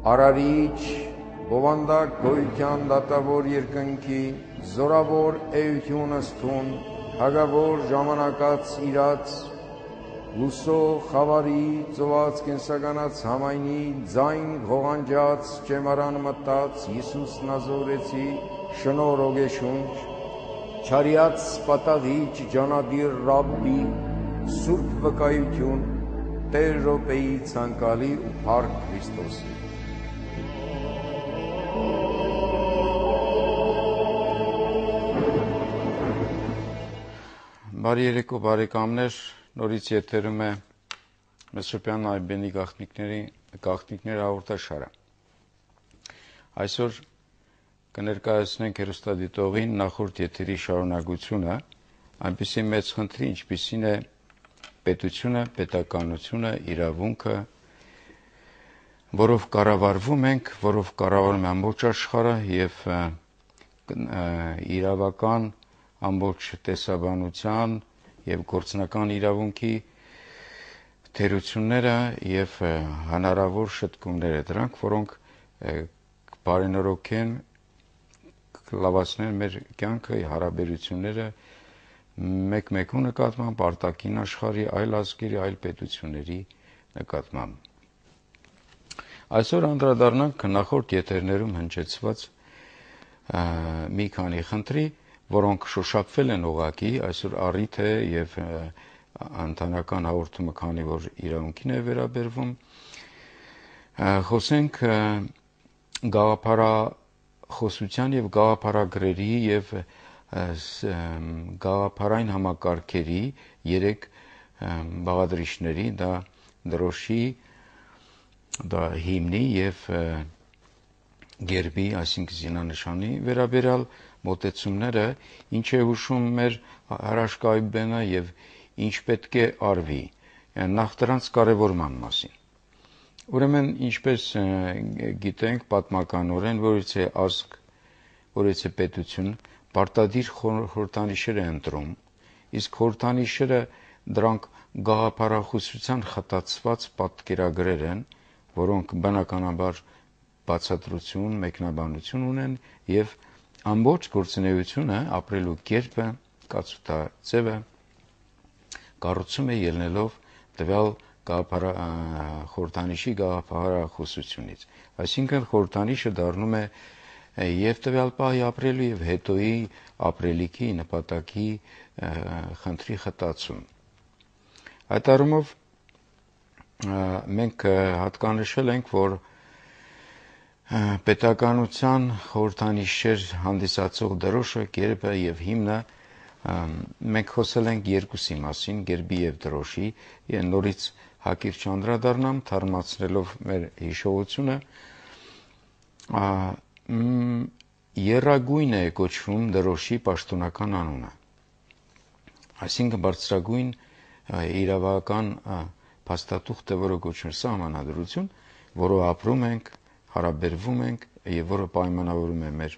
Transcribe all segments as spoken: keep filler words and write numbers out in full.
Արարիչ, բովանդակ գոյության դատավոր երկնքի, զորավոր էություն ըստուն, հագավոր ժամանակած իրաց, լուսո խավարի, ծոված կենսականած համայնի, ձայն ղողանջած, ճեմարան մտած, Հիսուս նազորեցի, շնոր ոգեշունչ, չարյաց պատաղիչ, ջանադիր ռաբբի, սուրբ վկայություն, Տեր Ռոպեի ցանկալի ու փառք Քրիստոսի։ Բարի երեկո բարեկամներ, նորից եթերում է Մեսրոպյան Այբենի գաղտնիքների գաղտնիքներ հաղորդաշարը։ Այսօր կներկայացնենք հեռուստադիտողին նախորդ եթերի շարունակությունը, այնպիսի մեծ խնդրի, ինչպիսին է պետությունը, պետականությունը, իրավունքը, որով կառավարվում ենք, որով կառավարում է ամբողջ աշխարհը եւ իրավական ամբողջ տեսաբանության եւ գործնական իրավունքի թերությունները եւ հնարավոր շտկումները դրանք, որոնք բարենորոգեն, կլավացնեն մեր կյանքը, հարաբերությունները մեկ-մեկու նկատմամբ, արտաքին աշխարհի, այլ ազգերի, այլ պետությունների նկատմամբ։ Այսօր անդրադառնանք նախորդ եթերներում հնչեցված մի քանի խնդրի, որոնք շոշափվել են ուղղակի, այսօր առիթ է եւ ընտանեկան հաղորդումը, քանի որ իրավունքին է վերաբերվում, խոսենք գաղափարախոսության եւ գաղափարագրերի եւ գաղափարային համակարգերի երեք բաղադրիչների, դա դրոշի, դա հիմնի եւ գերբի, այսինքն զինանշանի վերաբերյալ մոտեցումները, ինչ է հուշում մեր հրաշք Այբենը եւ ինչ պետք է արվի, նախ դրանց կարեւորման մասին։ Ուրեմն, ինչպես գիտենք պատմականորեն, որից է ազգ, որից է պետություն, պարտադիր խորհրդանիշեր է ընտրում, իսկ խորհրդանիշերը դրանք գաղափարախոսության խտացված պատկերագրեր են, որոնք բնականաբար բացատրություն, մեկնաբանություն ունեն եւ ամբողջ գործունեությունը, ապրելու կերպը, կացութաձևը կառուցում է ելնելով տվյալ խորհրդանիշի գաղափարախոսությունից։ Այսինքն խորհրդանիշը դառնում է եւ տվյալ պահի ապրելու եւ հետոյի ապրելիքի նպատակի խնդրի խտացում։ Այդ առումով մենք հատկանշել ենք, որ պետականության խորհրդանիշեր հանդիսացող դրոշը, գերբը եւ հիմնը մենք խոսել ենք երկուսի մասին, գերբի եւ դրոշի, եւ նորից հակիրճ անդրադառնամ, թարմացնելով մեր հիշողությունը, եռագույն է կոչվում դրոշի պաշտոնական անունը, այսինքն բարձրագույն իրավական փաստաթուղթը, որը կոչվում է սահմանադրություն, որով ապրում ենք, հարաբերվում ենք եւ որը պայմանավորում է մեր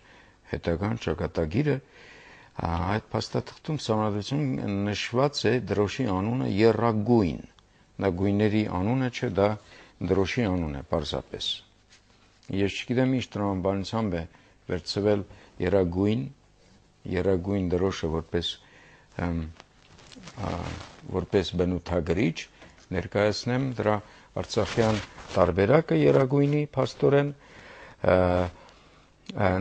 հետագան ճակատագիրը, այդ փաստաթղթում սահմանադրություն նշված է դրոշի անունը եռագույն, դա գույների անունը չէ, դա դրոշի անուն է պարզապես։ Ես չգիտեմ ինչ տրամաբանությամբ է վերցվել եռագույն, եռագույն դրոշը որպես որպես բնութագրիչ, ներկայացնեմ դրա արցախյան տարբերակը եռագույնի փաստորեն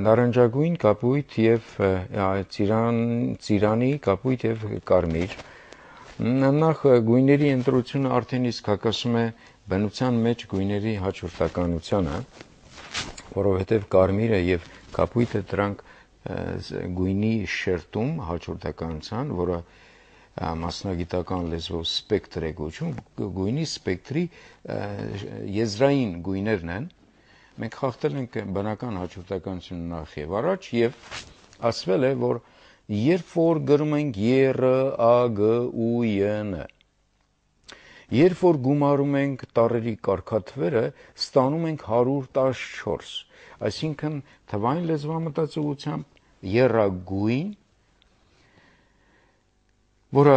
նարնջագույն, կապույտ եւ ծիրան, ծիրանի, կապույտ եւ կարմիր։ Նախ գույների ընտրությունը արդեն իսկ հակասում է բնության մեջ գույների հաջորդականությանը, որովհետեւ կարմիրը եւ կապույտը դրանք գույնի շերտում հաջորդականության, որը մասնագիտական լեզվով սպեկտր է կոչվում, գույնի սպեկտրի եզրային գույներն են։ Մենք խախտել ենք բնական հաջորդականությունը նախ եւ առաջ եւ ասվել է, որ երբ որ գրում ենք ԵՌ, ԱԳ, ՈՒ, ՅՆ, երբ որ գումարում ենք տառերի կարգաթվերը, ստանում ենք հարյուր տասնչորս, այսինքն թվային լեզվամտածողությամբ եռագույն որը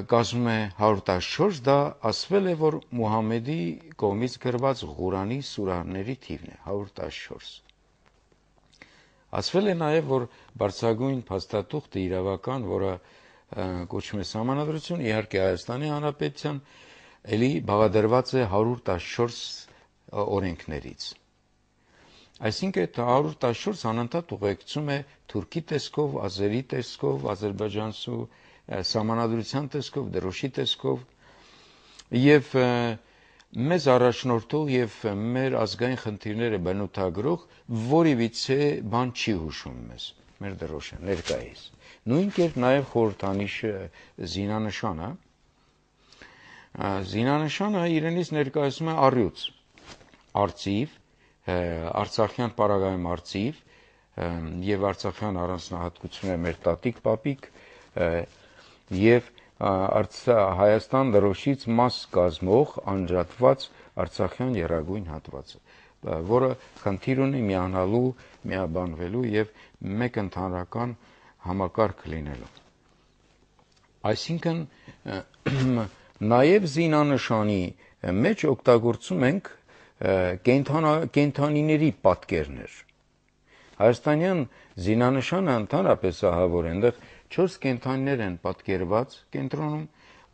կազմում է հարյուր տասնչորս, դա ասվել է, որ Մուհամեդի կողմից գրված Ղուրանի սուրահների թիվն է հարյուր տասնչորս։ Ասվել է նաև, որ բարձրագույն փաստաթուղթը իրավական, որը կոչվում է Սահմանադրություն, իհարկե Հայաստանի Հանրապետության, էլի բաղադրված է հարյուր տասնչորս օրենքներից։ Այսինքն այդ հարյուր տասնչորս անընդհատ ուղեկցում է թուրքի տեսքով, ազերի տեսքով, ադրբեջանցու սահմանադրության տեսքով, դրոշի տեսքով եւ մեզ առաջնորդող եւ մեր ազգային խնդիրները բնութագրող որևիցե բան չի հուշում մեզ, մեր դրոշը ներկայիս։ Նույն կերպ նաեւ խորհրդանիշը զինանշանը, զինանշանը իրենից ներկայացնում է առյուծ, արծիվ, արցախյան պարագայում արծիվ եւ արցախյան առանձնահատկությունները մեր տատիկ պապիկ եւ Հայաստան դրոշից մաս կազմող անջատված արցախյան եռագույն հատվածը, որը խնդիր ունի միանալու, միաբանվելու եւ մեկ ընդհանրական համակարգ լինելու։ Այսինքն նաեւ զինանշանի մեջ օգտագործում ենք կենդանիների պատկերներ։ Հայաստանյան զինանշանը ընդհանրապես ահավոր է, այնտեղ չորս կենդանիներ են պատկերված կենտրոնում,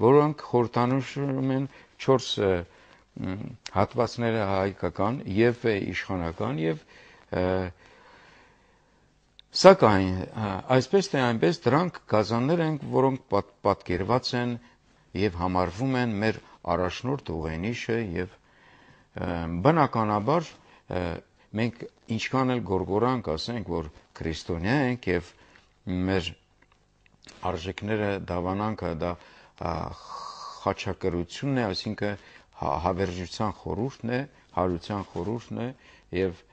որոնք խորհրդանշում են չորս հատվածները հայկական եւ իշխանական եւ սակայն այսպես թե այնպես դրանք գազաններ են, որոնք պատկերված են եւ համարվում են մեր առաջնորդ ուղենիշը եւ բնականաբար մենք ինչքան էլ գորգորանք ասենք, որ քրիստոնյա ենք եւ մեր արժեքները դավանանքը դա խաչակրությունն է, այսինքն հավերժության խորհուրդն է, հարության խորհուրդն է եւ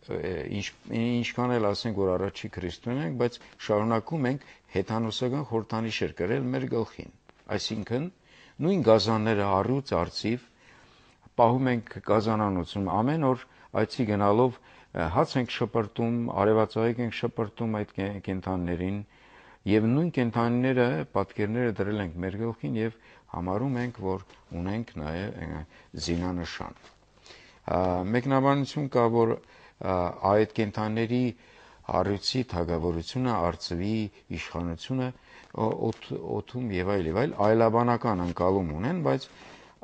ինչքան էլ ասենք, որ առաջի քրիստոնյա ենք, բայց շարունակում ենք հեթանոսական խորհրդանիշեր կրել մեր գլխին, այսինքն նույն գազանները առյուծ, արծիվ պահում ենք գազանանոցում, ամեն օր այցի գնալով հաց ենք շպրտում, արևածաղիկ ենք շպրտում այդ կենդանիներին եւ նույն կենդանիները պատկերները դրել ենք մեր գլխին եւ համարում ենք, որ ունենք նաեւ զինանշան։ Մեկնաբանություն կա, որ այդ կենդանիների առյուծի թագավորությունը, արծվի իշխանությունը օդում եւ այլ եւ այլ այլաբանական ընկալում ունեն, բայց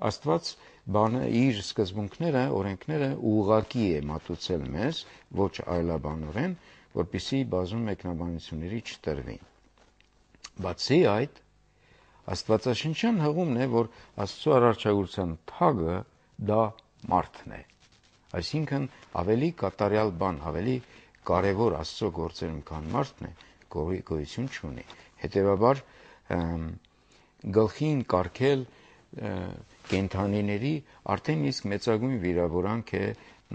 Աստված բանը իր սկզբունքները, օրենքները ուղղակի է մատուցել մեզ, ոչ այլաբանորեն, որպեսզի բազում մեկնաբանությունների չտրվի։ Բացի այդ, Աստվածաշնչյան հղումն է, որ Աստծո արարչագործության թագը դա մարդն է։ Այսինքն ավելի կատարյալ բան, ավելի կարևոր Աստծո գործերում, քան մարդն է, գոյություն չունի։ Հետևաբար գլխին կարգել կենդանիների արդեն իսկ մեծագույն վիրավորանք է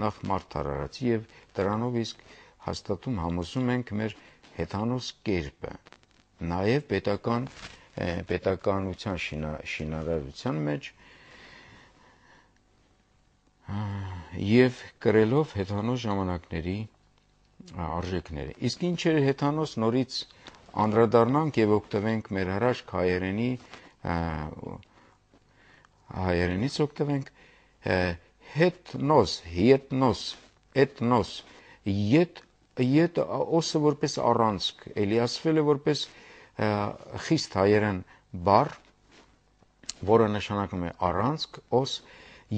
նախ մարդ արարածի եւ դրանով իսկ հաստատում համոզում ենք մեր հեթանոս կերպը, նաեւ պետական պետականության շինարարության մեջ եւ կրելով հեթանոս ժամանակների արժեքները։ Իսկ ինչ է հեթանոս, նորից անդրադառնանք եւ օգտվենք մեր հրաշք հայերենի հայերենից օգտվենք հետնոս, ետնոս, էտնոս, ետ ետ օսը որպես առանցք, էլի ասվել է որպես խիստ հայերեն բառ, որը նշանակում է առանցք, օս,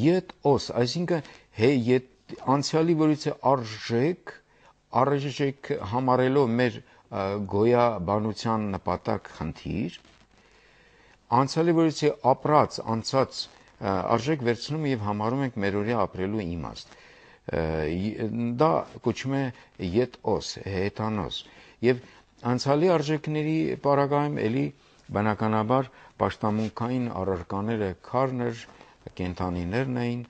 ետ օս, այսինքն հե ետ անցյալի որից է արժեք, արժեք համարելով մեր գոյաբանության նպատակ խնդիր, անցյալի որից է ապրած, անցած արժեք վերցնում եւ համարում ենք մերօրյա ապրելու իմաստ։ Դա կոչվում է ետ-օս, հեթանոս։ Եվ անցյալի արժեքների պարագայում էլի բնականաբար պաշտամունքային առարկաները քարներ, կենդանիներն էին,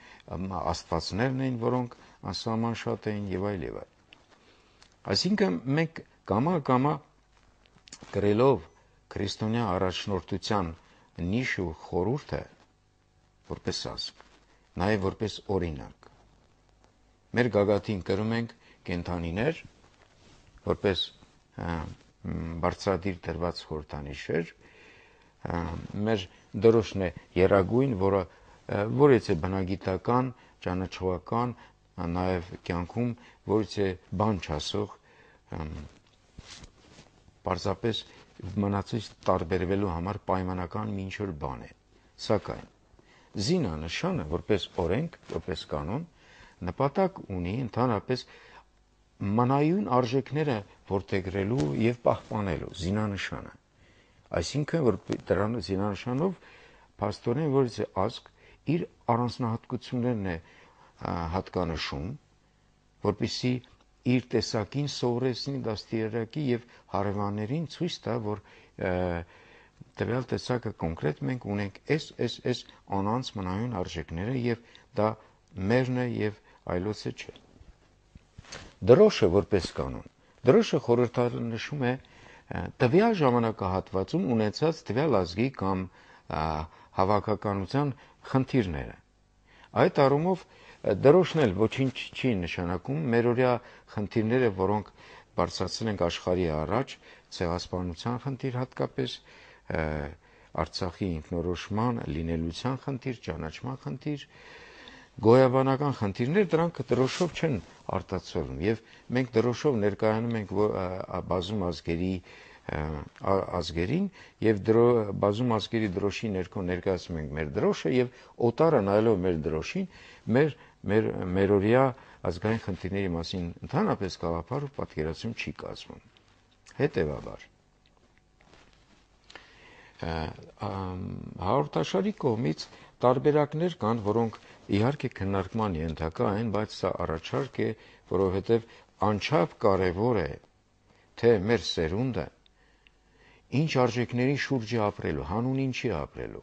աստվածներն էին, որոնք անսահման շատ էին եւ այլ եւ այլ։ Այսինքն մենք կամա-կամա գրելով քրիստոնյա առաջնորդության նիշ ու խորհուրդը որպես ազգ, նաև որպես օրինակ։ Մեր գագաթին կրում ենք կենդանիներ, որպես բարձրադիր դրված խորհրդանիշ էր, մեր դրոշն է երագույն, որը որից է բնագիտական, ճանաչողական, նաև կյանքում որից է բան չասող, պարզապես մնացից տարբերվելու համար պայմանական մի ինչ-որ բան է, սակայն զինանշանը որպես օրենք, որպես կանոն նպատակ ունի ընդհանրապես մանայուն արժեքները որդեգրելու եւ պահպանելու զինանշանը, այսինքն որ դրան զինանշանով փաստորեն որից է ազգ իր առանձնահատկություններն է հատկանշում, որպեսզի իր տեսակին սովորեցնի դաստիարակի եւ հարևաններին ցույց տա, որ տվյալ տեսակը կոնկրետ մենք ունենք այս այս այս անանց մնայուն արժեքները եւ դա մերն է եւ այլոցը չէ։ Դրոշը որպես կանոն, դրոշը խորհրդանշում է տվյալ ժամանակահատվածում ունեցած տվյալ ազգի կամ հավաքականության խնդիրները։ Այդ առումով դրոշն էլ ոչինչ չի նշանակում, մերօրյա խնդիրները, որոնք բարձրացել ենք աշխարհի առաջ, ցեղասպանության խնդիր հատկապես, Արցախի ինքնորոշման, լինելության խնդիր, ճանաչման խնդիր, գոյաբանական խնդիրներ, դրանք դրոշով չեն արտացոլվում եւ մենք դրոշով ներկայանում ենք բազում ազգերի ազգերին եւ բազում ազգերի դրոշի ներքո ներկայացնում ենք մեր դրոշը եւ օտարը նայելով մեր դրոշին մեր մեր մերօրյա ազգային խնդիրների մասին ընդհանրապես գաղափար ու պատկերացում չի կազմում։ Հետևաբար հաղորդաշարի կողմից տարբերակներ կան, որոնք իհարկե քննարկման ենթակա են, բայց սա առաջարկ է, որովհետև անչափ կարևոր է, թե մեր սերունդը ինչ արժեքների շուրջ է ապրելու, հանուն ինչի ապրելու։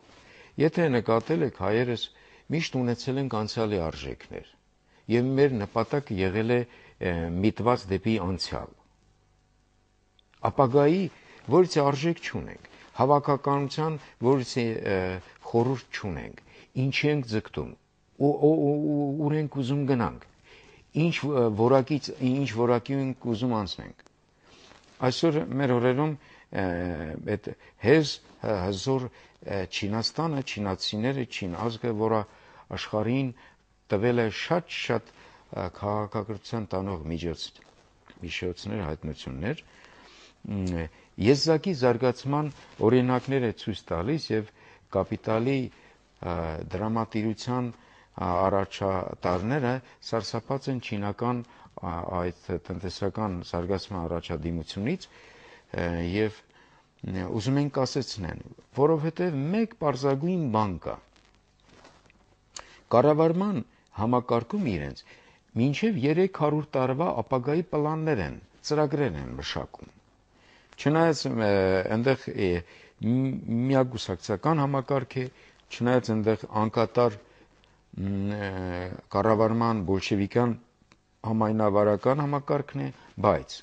Եթե նկատել եք, հայերս միշտ ունեցել ենք անցյալի արժեքներ, եւ մեր նպատակը եղել է միտված դեպի անցյալ։ Ապագայի որից արժեք չունենք, հավաքականության որից խորհուրդ չունենք, ինչի ենք ձգտում, ուր ենք ուզում գնանք, ինչ որակից, ինչ որակի ենք ուզում անցնենք։ Այսօր մեր օրերում այդ հեզ հզոր Չինաստանը, չինացիները, չին ազգը, որը աշխարհին տվել է շատ-շատ քաղաքակրթության տանող միջոցներ, հայտնություններ, եզակի զարգացման օրինակներ է ցույց տալիս եւ կապիտալի դրամատիրության առաջատարները սարսափած են չինական այդ տնտեսական զարգացման առաջադիմությունից եւ ուզում են կասեցնեն, որովհետեւ մեկ պարզագույն բան կա։ Կառավարման համակարգում իրենց մինչև երեք հարյուր տարվա ապագայի պլաններ են, ծրագրեր են մշակում։ Չնայած այնտեղ միագուսակցական համակարգ է, չնայած այնտեղ անկատար կառավարման բոլշևիկյան համայնավարական համակարգն է, բայց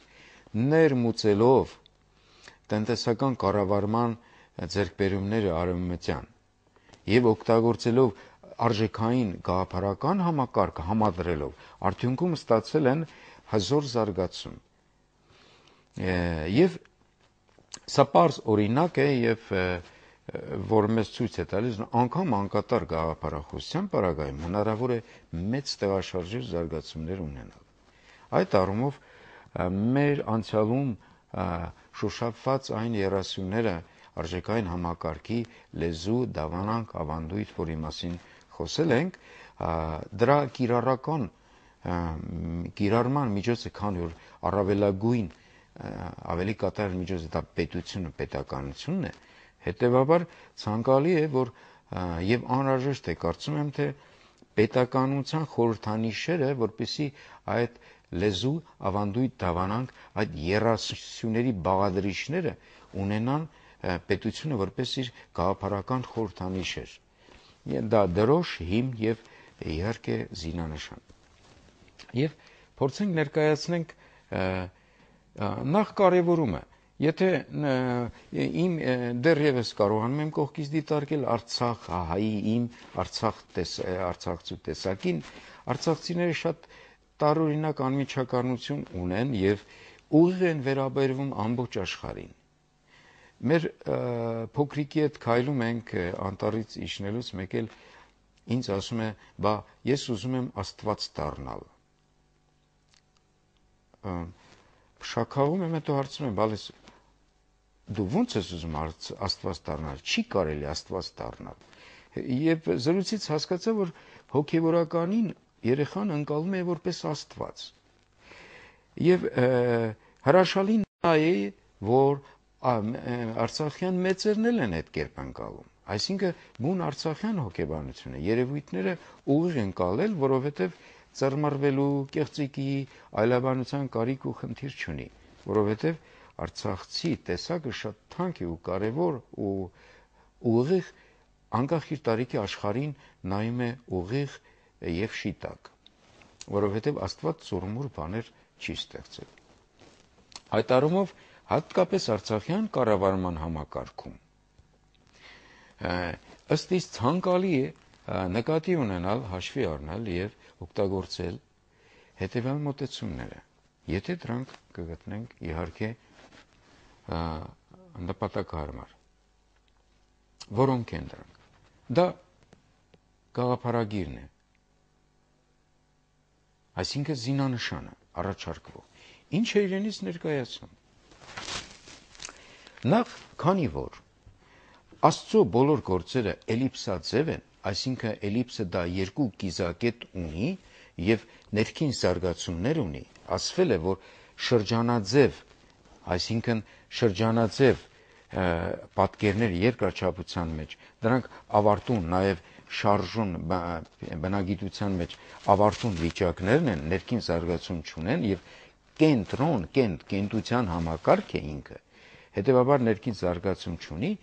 ներմուծելով տնտեսական կառավարման ձեռքբերումները արևմտյան եւ օգտագործելով արժեքային գաղափարական համակարգը համադրելով արդյունքում ստացել են հզոր զարգացում։ Եվ սա պարզ օրինակ է եւ որ մեզ ցույց է տալիս անգամ անկատար գաղափարախոսության պարագայում հնարավոր է մեծ տեղաշարժեր զարգացումներ ունենալ։ Այդ առումով մեր անցյալում շոշափված այն երասյունները արժեքային համակարգի լեզու, դավանանք, ավանդույթ, որի մասին խոսել ենք, դրա կիրառական կիրառման միջոցը քան որ առավելագույն ավելի կատարյալ միջոցը դա պետությունը, պետականությունն է, հետևաբար ցանկալի է, որ եւ անհրաժեշտ է, կարծում եմ, թե պետականության խորհրդանիշերը, որպեսզի այդ լեզու, ավանդույթ, դավանանք, այդ երասյունների բաղադրիչները ունենան պետությունը որպես իր գաղափարական խորհրդանիշեր։ Դա դրոշ, հիմն եւ իհարկե զինանշան։ Եվ փորձենք ներկայացնենք նախ կարևորումը, եթե իմ դեռևս կարողանում եմ կողքից դիտարկել Արցախ հայի իմ Արցախ արցախցու տեսակին, արցախցիները շատ տարօրինակ անմիջականություն ունեն եւ ուղիղ են վերաբերվում ամբողջ աշխարհին։ Մեր փոքրիկի հետ քայլում ենք անտառից իջնելուց մեկ էլ ինձ ասում է, բա ես ուզում եմ Աստված դառնալ։ Շաքաղում եմ, հետո հարցնում եմ, բալես դու ո՞նց ես ուզում Աստված դառնալ, չի կարելի Աստված դառնալ։ Եվ զրույցից հասկացա, որ հոգևորականին երեխան ընկալում է որպես Աստված։ Եվ հրաշալի նա է, որ արցախյան մեծերն էլ են այդ կերպ ընկալում։ Այսինքն բուն արցախյան հոգեբանությունը երևույթները ուղիղ են կալել, որովհետև ծռմռվելու, կեղծիկի, այլաբանության կարիք ու խնդիր չունի, որովհետև արցախցի տեսակը շատ թանկ է ու կարևոր ու ուղիղ անկախ իր տարիքի աշխարհին նայում է ուղիղ եւ շիտակ, որովհետև Աստված ծուռմուռ բաներ չի ստեղծել։ Այդ առումով հատկապես արցախյան կառավարման համակարգում ըստ իս ցանկալի է նկատի ունենալ, հաշվի առնել եւ օգտագործել հետեւյալ մոտեցումները, եթե դրանք կգտնենք իհարկե նպատակահարմար։ Որոնք են դրանք։ Դա գաղափարագիրն է, այսինքն զինանշանը առաջարկվող։ Ինչ է իրենից ներկայացնում։ Նախ, քանի որ Աստծո բոլոր գործերը էլիպսաձև են, այսինքն էլիպսը դա երկու կիզակետ ունի եւ ներքին զարգացումներ ունի, ասվել է, որ շրջանաձև, այսինքն շրջանաձև պատկերներ երկրաչափության մեջ, դրանք ավարտուն նաեւ շարժուն բնագիտության մեջ ավարտուն վիճակներն են, ներքին զարգացում չունեն եւ կենտրոն, կենտ, կենտության համակարգ է ինքը, հետեւաբար ներքին զարգացում չունի,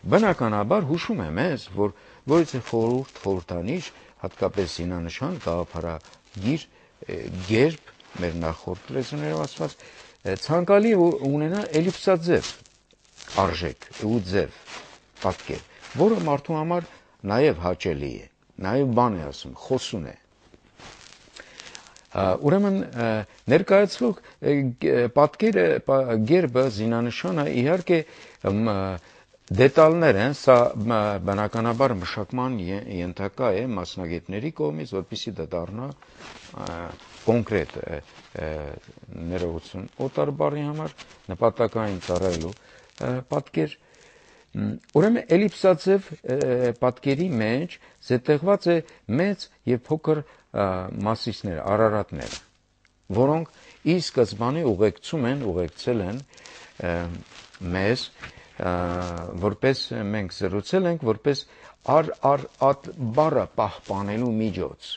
բնականաբար հուշում է մեզ, որ որից է խորհուրդ, խորհրդանիշ, հատկապես զինանշան, գաղափարագիր, գերբ, մեր նախորդ լեզուներով ասված, ցանկալի ունենա էլիպսաձև արժեք ու ձև պատկեր, որը մարդու համար նաև հաճելի է, նաև բան է ասում, խոսուն է։ Ուրեմն ներկայացվող պատկերը, գերբը, զինանշանը իհարկե դետալներ են, սա բնականաբար մշակման ենթակա է մասնագետների կողմից, որպեսզի դա դառնա կոնկրետ ներողություն օտար բառի համար նպատակային ծառայելու պատկեր։ Ուրեմն էլիպսաձև պատկերի մեջ զետեղված է մեծ եւ փոքր մասիսներ, արարատներ, որոնք ի սկզբանե ուղեկցում են, ուղեկցել են մեզ, որպես մենք զրուցել ենք, որպես ար ար ատ բառը պահպանելու միջոց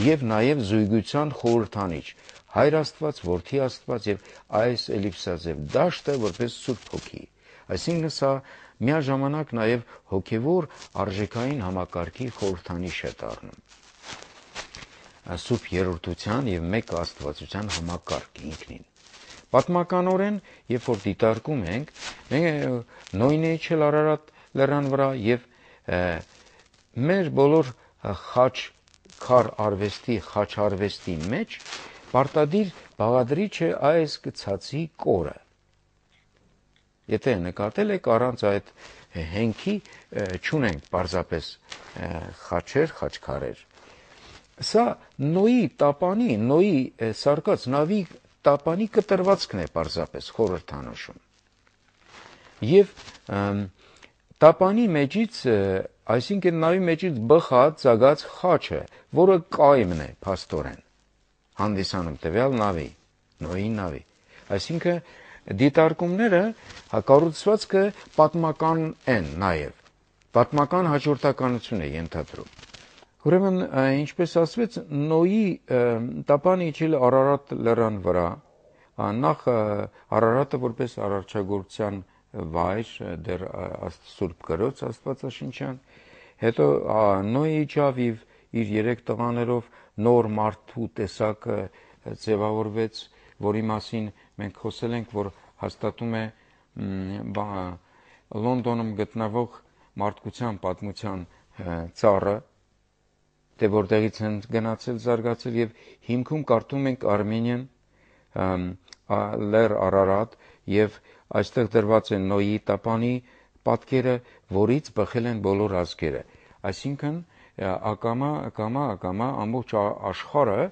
եւ նաեւ զույգության խորհրդանիշ, Հայր Աստված, Որդի Աստված եւ այս էլիպսաձև դաշտը որպես Սուրբ Հոգի, այսինքն սա միաժամանակ նաեւ հոգեվոր արժեքային համակարգի խորհրդանիշ է դառնում։ Սուրբ երրորդության եւ մեկ աստվածության համակարգ ինքնին։ Պատմականորեն, երբ որ դիտարկում ենք, մենք նույնը իջել Արարատ լեռան վրա եւ մեր բոլոր խաչ քար արվեստի, խաչ արվեստի մեջ պարտադիր բաղադրիչ է այս գցածի կորը։ Եթե նկատել եք, առանց այդ հենքի չունենք պարզապես խաչեր, խաչքարեր։ Սա Նոյի տապանի, Նոյի սարկած նավի տապանի կտրվածքն է պարզապես խորհրդանշում։ Եվ տապանի մեջից, այսինքն նավի մեջից բխած ծագած խաչը, որը կայմն է փաստորեն, հանդիսանում տվյալ նավի, Նոյի նավի։ Այսինքն դիտարկումները կառուցվածքը պատմական են նաև, պատմական հաջորդականություն է ենթադրում։ Ուրեմն, ինչպես ասվեց, Նոյի տապանը իջել Արարատ լեռան վրա, նախ Արարատը որպես արարչագործության վայր, դեռ Սուրբ Գրոց Աստվածաշնչյան, հետո Նոյը իջավ եւ իր երեք տղաներով նոր մարդու տեսակը ձևավորվեց, որի մասին մենք խոսել ենք, որ հաստատում է Լոնդոնում գտնվող մարդկության պատմության ծառը, թե որտեղից են գնացել, զարգացել եւ հիմքում կարդում ենք Արմենիան, Լեռ Արարատ եւ այստեղ դրված են Նոյի տապանի պատկերը, որից բխել են բոլոր ազգերը։ Այսինքն ակամա ակամա ակամա ամբողջ աշխարհը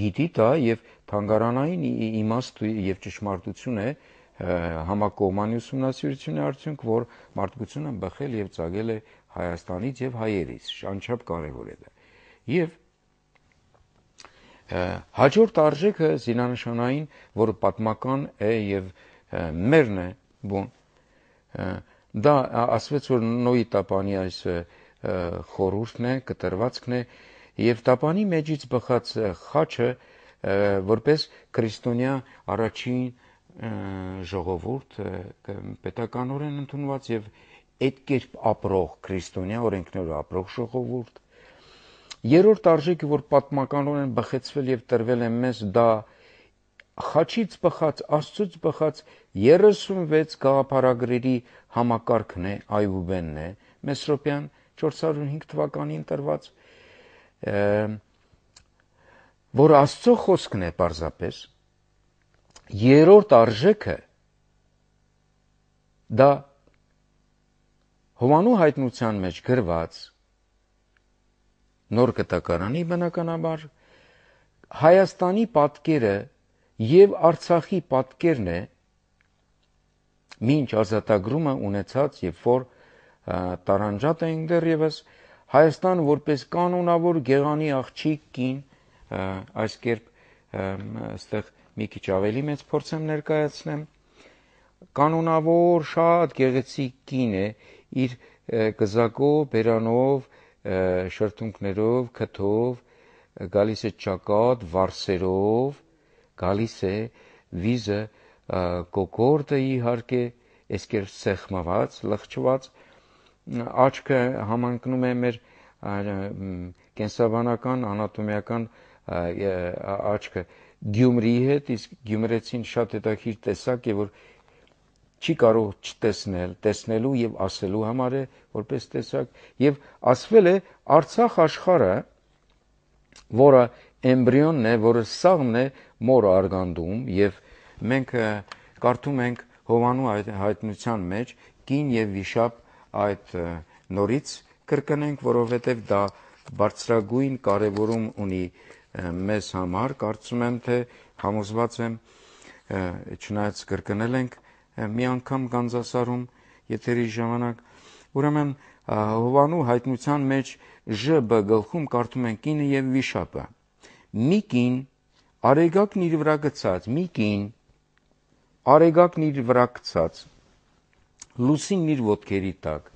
գիտի դա եւ թանգարանային իմաստ եւ ճշմարտություն է համակողմանի ուսումնասիրությունի արդյունք, որ մարդկությունը բխել եւ ծագել է Հայաստանից եւ հայերից, անչափ կարեւոր է դա։ Եվ հաջորդ արժեքը զինանշանային, որը պատմական է եւ մերն է, բուն, դա ասվեց, որ Նոյի տապանի այս խորհուրդն է, կտրվածքն է, եւ տապանի մեջից բխած խաչը որպես քրիստոնյա առաջին ժողովուրդ պետականորեն ընդունված եւ այդ կերպ ապրող քրիստոնյա օրենքներով ապրող ժողովուրդ։ Երրորդ արժեքը, որ պատմականորեն բխեցվել եւ տրվել է մեզ, դա խաչից բխած, Աստծուց բխած երեսունվեց գաղափարագրերի համակարգն է, Այուբենն է, Մեսրոպյան չորս հարյուր հինգ թվականին տրված, որ Աստծո խոսքն է պարզապես։ Երրորդ արժեքը դա Հովանու հայտնության մեջ գրված նոր կտակարանի բնականաբար Հայաստանի պատկերը եւ Արցախի պատկերն է մինչ ազատագրումը ունեցած, երբ որ տարանջատ էին դեռևս Հայաստան որպես կանոնավոր գեղանի աղջիկ կին, այս կերպ այստեղ մի քիչ ավելի մեծ փորձեմ ներկայացնեմ, կանոնավոր շատ գեղեցիկ կին է իր կզակով, բերանով, շրթունքներով, քթով, գալիս է ճակատ, վարսերով, գալիս է վիզը կոկորդը իհարկե, այսքեր սեղմված, լղջված, աչքը համընկնում է մեր կենսաբանական, անատոմիական աչքը Գյումրիի հետ, իսկ գյումրեցին շատ հետաքրքիր տեսակ է, որ չի կարող չտեսնել, տեսնելու եւ ասելու համար է որպես տեսակ, եւ ասվել է Արցախ աշխարհը, որը էմբրիոնն է, որը սաղմն է մոր արգանդում, եւ մենք կարդում ենք Հովանու հայտնության մեջ կին եւ վիշապ այդ նորից կրկնենք, որովհետեւ դա բարձրագույն կարևորում ունի մեզ համար, կարծում եմ, թե համոզված եմ, չնայած կրկնել ենք մի անգամ Գանձասարում եթերի ժամանակ, ուրեմն Հովանու հայտնության մեջ Ժ-բ գլխում կարդում են կինը եւ վիշապը։ Մի կին արեգակն իր վրա գցած, մի կին արեգակն իր վրա գցած, լուսինն իր ոտքերի տակ։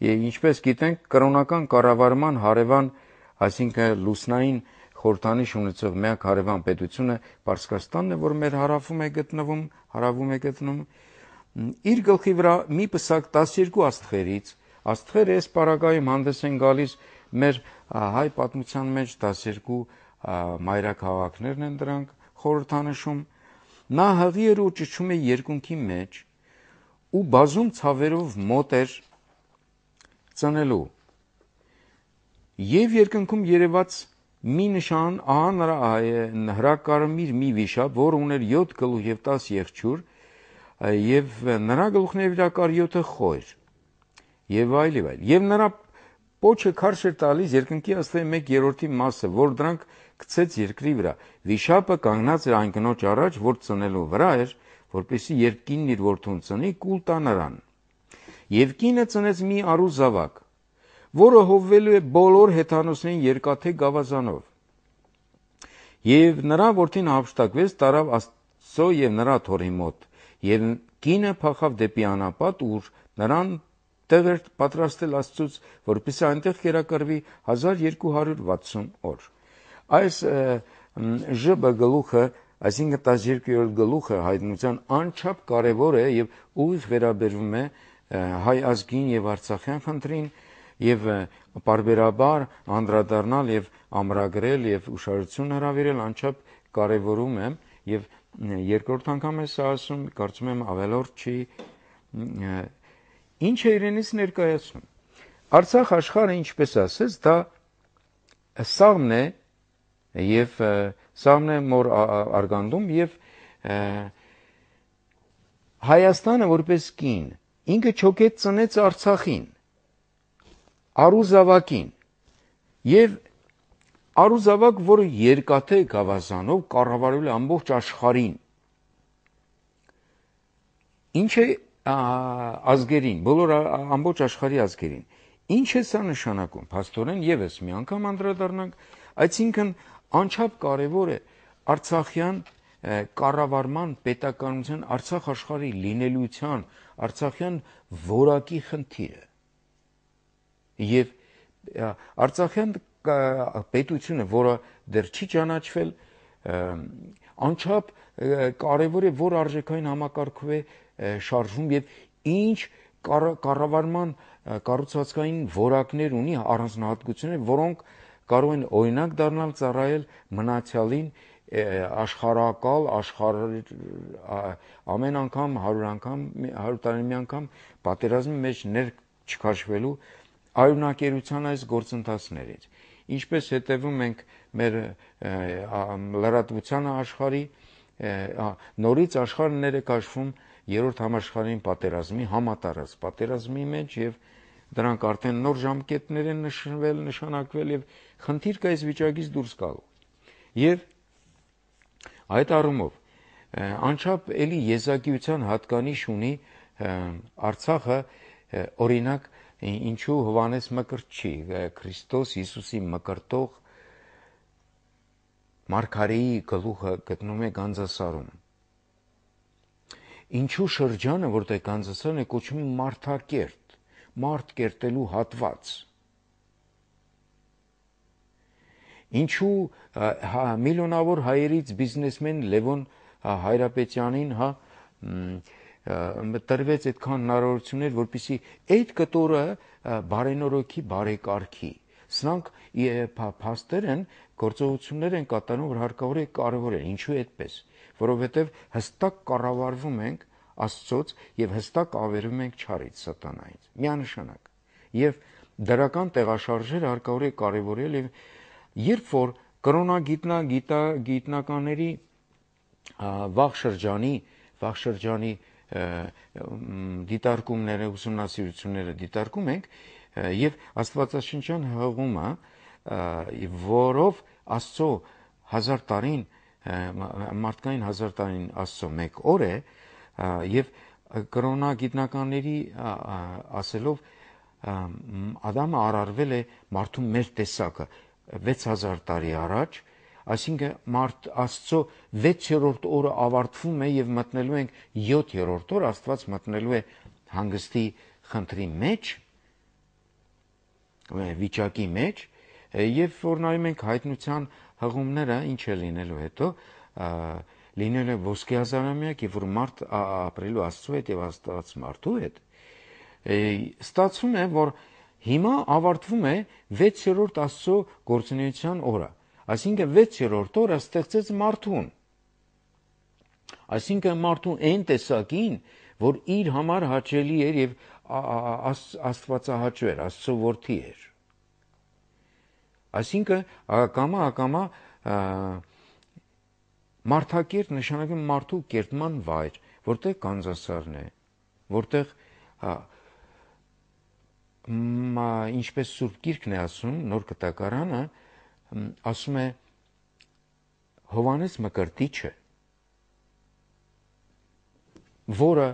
Եվ ինչպես գիտենք, կրոնական կառավարման հարևան, այսինքն լուսնային խորհրդանիշ ունեցող միակ հարևան պետությունը Պարսկաստանն է, որ մեր հարավում է գտնվում, հարավում է գտնվում, իր գլխի վրա մի պսակ տասներկու աստղերից, աստղերը այս պարագայում հանդես են գալիս մեր հայ պատմության մեջ տասներկու մայրաքաղաքներն են դրանք խորհրդանշում, նա հղի էր ու ճչում է երկունքի մեջ ու բազում ցավերով մոտ էր ծնելու։ Եվ երկնքում երևաց մի նշան, ահա նրա հրակարմիր մի վիշապ, որ ուներ յոթ գլուխ եւ տաս եղջյուր, եւ նրա գլուխների վրա կար յոթը խոյր, եւ այլ եւ այլ։ Եվ նրա պոչը քարշ էր տալիս երկնքի աստղերի մեկ երրորդի մասը, որ դրանք գցեց երկրի վրա։ Վիշապը կանգնած էր այն կնոջ առաջ, որ ծնելու վրա էր, որպեսզի երբ կինն իր որդուն ծնի, կուլ տա նրան։ Եվ կինը ծնեց մի արու զավակ, որը հովվելու է բոլոր հեթանոսներին երկաթե գավազանով։ Եվ նրա որդին հափշտակվեց, տարավ Աստծո եւ նրա թորի մոտ, եւ կինը փախավ դեպի անապատ, ուր նրան տեղ էր պատրաստել Աստծուց, որպեսզի այնտեղ կերակրվի հազար երկու հարյուր վաթսուն օր։ Այս Ժ-բ գլուխը, այսինքն տասներկուերորդ գլուխը հայտնության անչափ կարևոր է եւ ուղիղ վերաբերվում է հայ ազգին եւ արցախյան խնդրին եւ պարբերաբար անդրադառնալ եւ ամրագրել եւ ուշադրություն հրավիրել անչափ կարևորում եմ եւ երկրորդ անգամ է սա ասում, կարծում եմ ավելորդ չի, ինչ է իրենից ներկայացնում։ Արցախ աշխարհը, ինչպես ասես, դա սաղմն է եւ սաղմն է մոր արգանդում եւ Հայաստանը որպես կին ինքը չոքետ ծնեց Արցախին, Արուզավակին, եւ Արուզավակ, որը երկաթե գավազանով կառավարել է ամբողջ աշխարհին, ինչ է ազգերին, բոլոր ամբողջ աշխարհի ազգերին, ինչ է սա նշանակում, փաստորեն եւս մի անգամ անդրադառնանք, այսինքն անչափ կարևոր է Արցախյան կառավարման, պետականության, Արցախ աշխարհի լինելիության, Արցախյան որակի խնդիրը։ Եվ Արցախյան պետությունը, որը դեռ չի ճանաչվել, անչափ կարևոր է, որ արժեքային համակարգով է շարժվում եւ ինչ կառավարման կառուցվածքային որակներ ունի, առանձնահատկություններ, որոնք կարող են օրինակ դառնալ ծառայել մնացյալին աշխարհակալ, աշխարհ ամեն անգամ, հարյուր անգամ, հարյուր տարի մի անգամ պատերազմի մեջ ներ չքաշվելու արյունակերության այս գործընթացներից։ Ինչպես հետևում ենք մեր լրատվությանը աշխարհի, նորից աշխարհը ներ է քաշվում երրորդ համաշխարհային պատերազմի, համատարած պատերազմի մեջ եւ դրանք արդեն նոր ժամկետներ են նշվել, նշանակվել եւ խնդիր կա այս վիճակից դուրս գալու։ Եվ այդ առումով անչափ էլի եզակիության հատկանիշ ունի Արցախը, օրինակ ինչու Հովանես Մկրտչի, Քրիստոս Հիսուսի մկրտող Մարգարեի գլուխը գտնում է Գանձասարում։ Ինչու շրջանը, որտեղ Գանձասարն է, կոչվում է Մարդակերտ, մարդ կերտելու հատված։ Ինչու միլիոնավոր հայերից բիզնեսմեն Լևոն Հայրապետյանին հա տրվեց այդքան հնարավորություններ, որպեսզի այդ կտորը բարենորոքի, բարեկարգի։ Սրանք փաստեր են, գործողություններ են կատարում, որ հարկավոր է կարևոր են։ Ինչու այդպես։ Որովհետև հստակ կառավարվում ենք Աստծոց եւ հստակ ավերում ենք չարից, սատանայից։ Միանշանակ։ Եվ դրական տեղաշարժերը հարկավոր է կարևորել եւ երբ որ կրոնագիտնա գիտնականների վաղ շրջանի, վաղ շրջանի դիտարկումները, ուսումնասիրությունները դիտարկում ենք եւ Աստվածաշնչյան հղումը, որով Աստծո հազար տարին, մարդկային հազար տարին Աստծո մեկ օր է, եւ կրոնագիտնականների ասելով Ադամը արարվել է մարդու մեր տեսակը վեց հազար տարի առաջ, այսինքն մարդ Աստծո վեցերորդ օրը ավարտվում է եւ մտնելու ենք յոթերորդ օր, Աստված մտնելու է հանգստի խնդրի մեջ, վիճակի մեջ, եւ որ նայում ենք հայտնության հղումները, ինչ է լինելու հետո, լինել է ոսկե հազարամյակ, եւ որ մարդ ապրելու Աստծո հետ եւ Աստված մարդու հետ, ստացվում է, որ հիմա ավարտվում է վեցերորդ Աստծո գործունեության օրը, այսինքն վեցերորդ օրը ստեղծեց մարդուն, այսինքն մարդու այն տեսակին, որ իր համար հաճելի էր եւ աստվածահաճո էր, Աստծո որդի էր։ Այսինքն ակամա ակամա Մարդակերտ նշանակում մարդու կերտման վայր, որտեղ Գանձասարն է, որտեղ ինչպես Սուրբ Գիրքն է ասում, Նոր Կտակարանը ասում է Հովանես Մկրտիչը, որը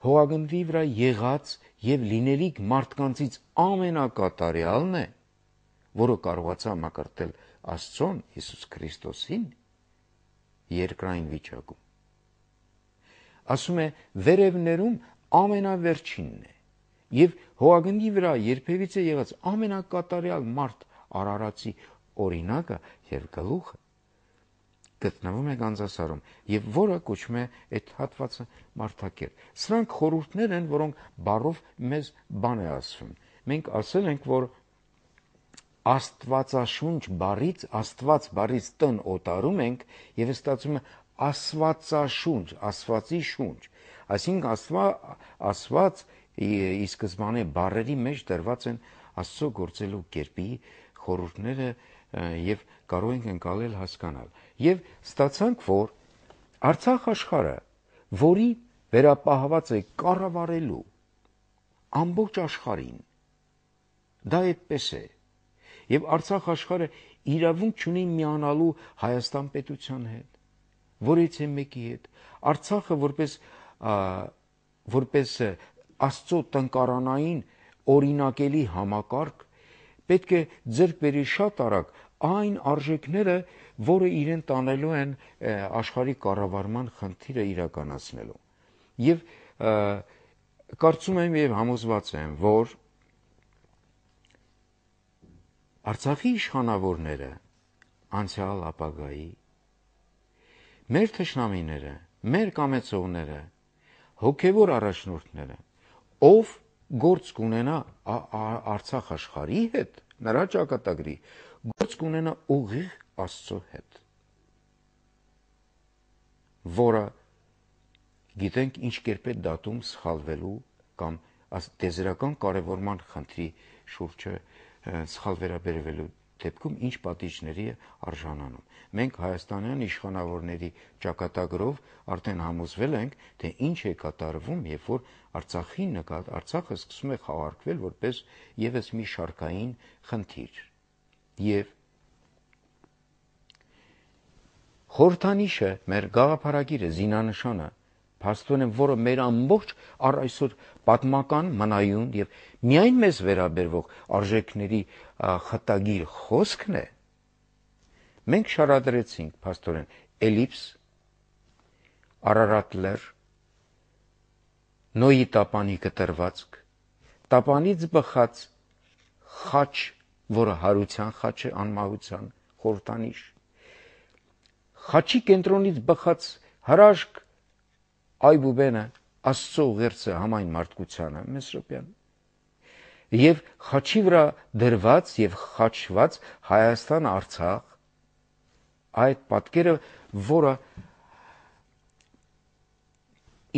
հողագնդի վրա եղած եւ լինելիք մարդկանցից ամենակատարյալն է, որը կարողացավ մկրտել Աստծուն, Հիսուս Քրիստոսին, երկրային վիճակում։ Ասում է վերևներում ամենավերջինն է եւ հողագնդի վրա երբևիցե եղած ամենակատարյալ մարդ արարածի օրինակը եւ գլուխը գտնվում է Գանձասարում եւ որը կոչվում է այդ հատվածը Մարդակերտ։ Սրանք խորհուրդներ են, որոնք բառով մեզ բան է ասում։ Մենք ասել ենք, որ Աստվածաշունչ բառից, Աստված բառից տնը օտարում ենք եւ ստացվում է Աստվածաշունչ, Աստվածի շունչ։ Այսինքն Աստվա, Աստված ի սկզբանե բառերի մեջ դրված են Աստծո գործելու կերպի խորհուրդները եւ կարող ենք ընկալել, հասկանալ։ Եվ ստացանք, որ Արցախ աշխարհը, որի վերապահված է կառավարելու ամբողջ աշխարհին, դա այդպես է, եւ Արցախ աշխարհը իրավունք չունի միանալու Հայաստան պետության հետ, որից է մեկի հետ։ Արցախը որպես որպես Աստծո տնկարանային օրինակելի համակարգ պետք է ձեռք բերի շատ արագ այն արժեքները, որը իրեն տանելու են աշխարհի կառավարման խնդիրը իրականացնելու։ Եվ կարծում եմ եւ համոզված եմ, որ Արցախի իշխանավորները անցյալ ապագայի, մեր թշնամիները, մեր կամեցողները, հոգևոր առաջնորդները, ով գործ կունենա Արցախ աշխարհի հետ, նրա ճակատագրի, գործ կունենա ուղիղ Աստծո հետ, որը գիտենք ինչ կերպ է դատում սխալվելու կամ տեզերական կարևորման խնդրի շուրջը սխալ վերաբերվելու դեպքում ինչ պատիժների է արժանանում։ Մենք հայաստանյան իշխանավորների ճակատագրով արդեն համոզվել ենք, թե ինչ է կատարվում, երբ որ Արցախի նկատ Արցախը սկսում է խաղարկվել որպես եւս մի շարքային խնդիր։ Եվ խորհրդանիշը, մեր գաղափարագիրը, զինանշանը, փաստորեն, որը մեր ամբողջ առ այսօր պատմական մնայուն եւ միայն մեզ վերաբերվող արժեքների խտագիր խոսքն է, մենք շարադրեցինք փաստորեն էլիպս, Արարատ լեռ, Նոյի տապանի կտրվածք, տապանից բխած խաչ, որը հարության խաչ է, անմահության խորհրդանիշ, խաչի կենտրոնից բխած հրաշք այբուբենը, Աստծո ուղերձը համայն մարդկությանը, Մեսրոպյան, եւ խաչի վրա դրված եւ խաչված Հայաստան Արցախ, այդ պատկերը, որը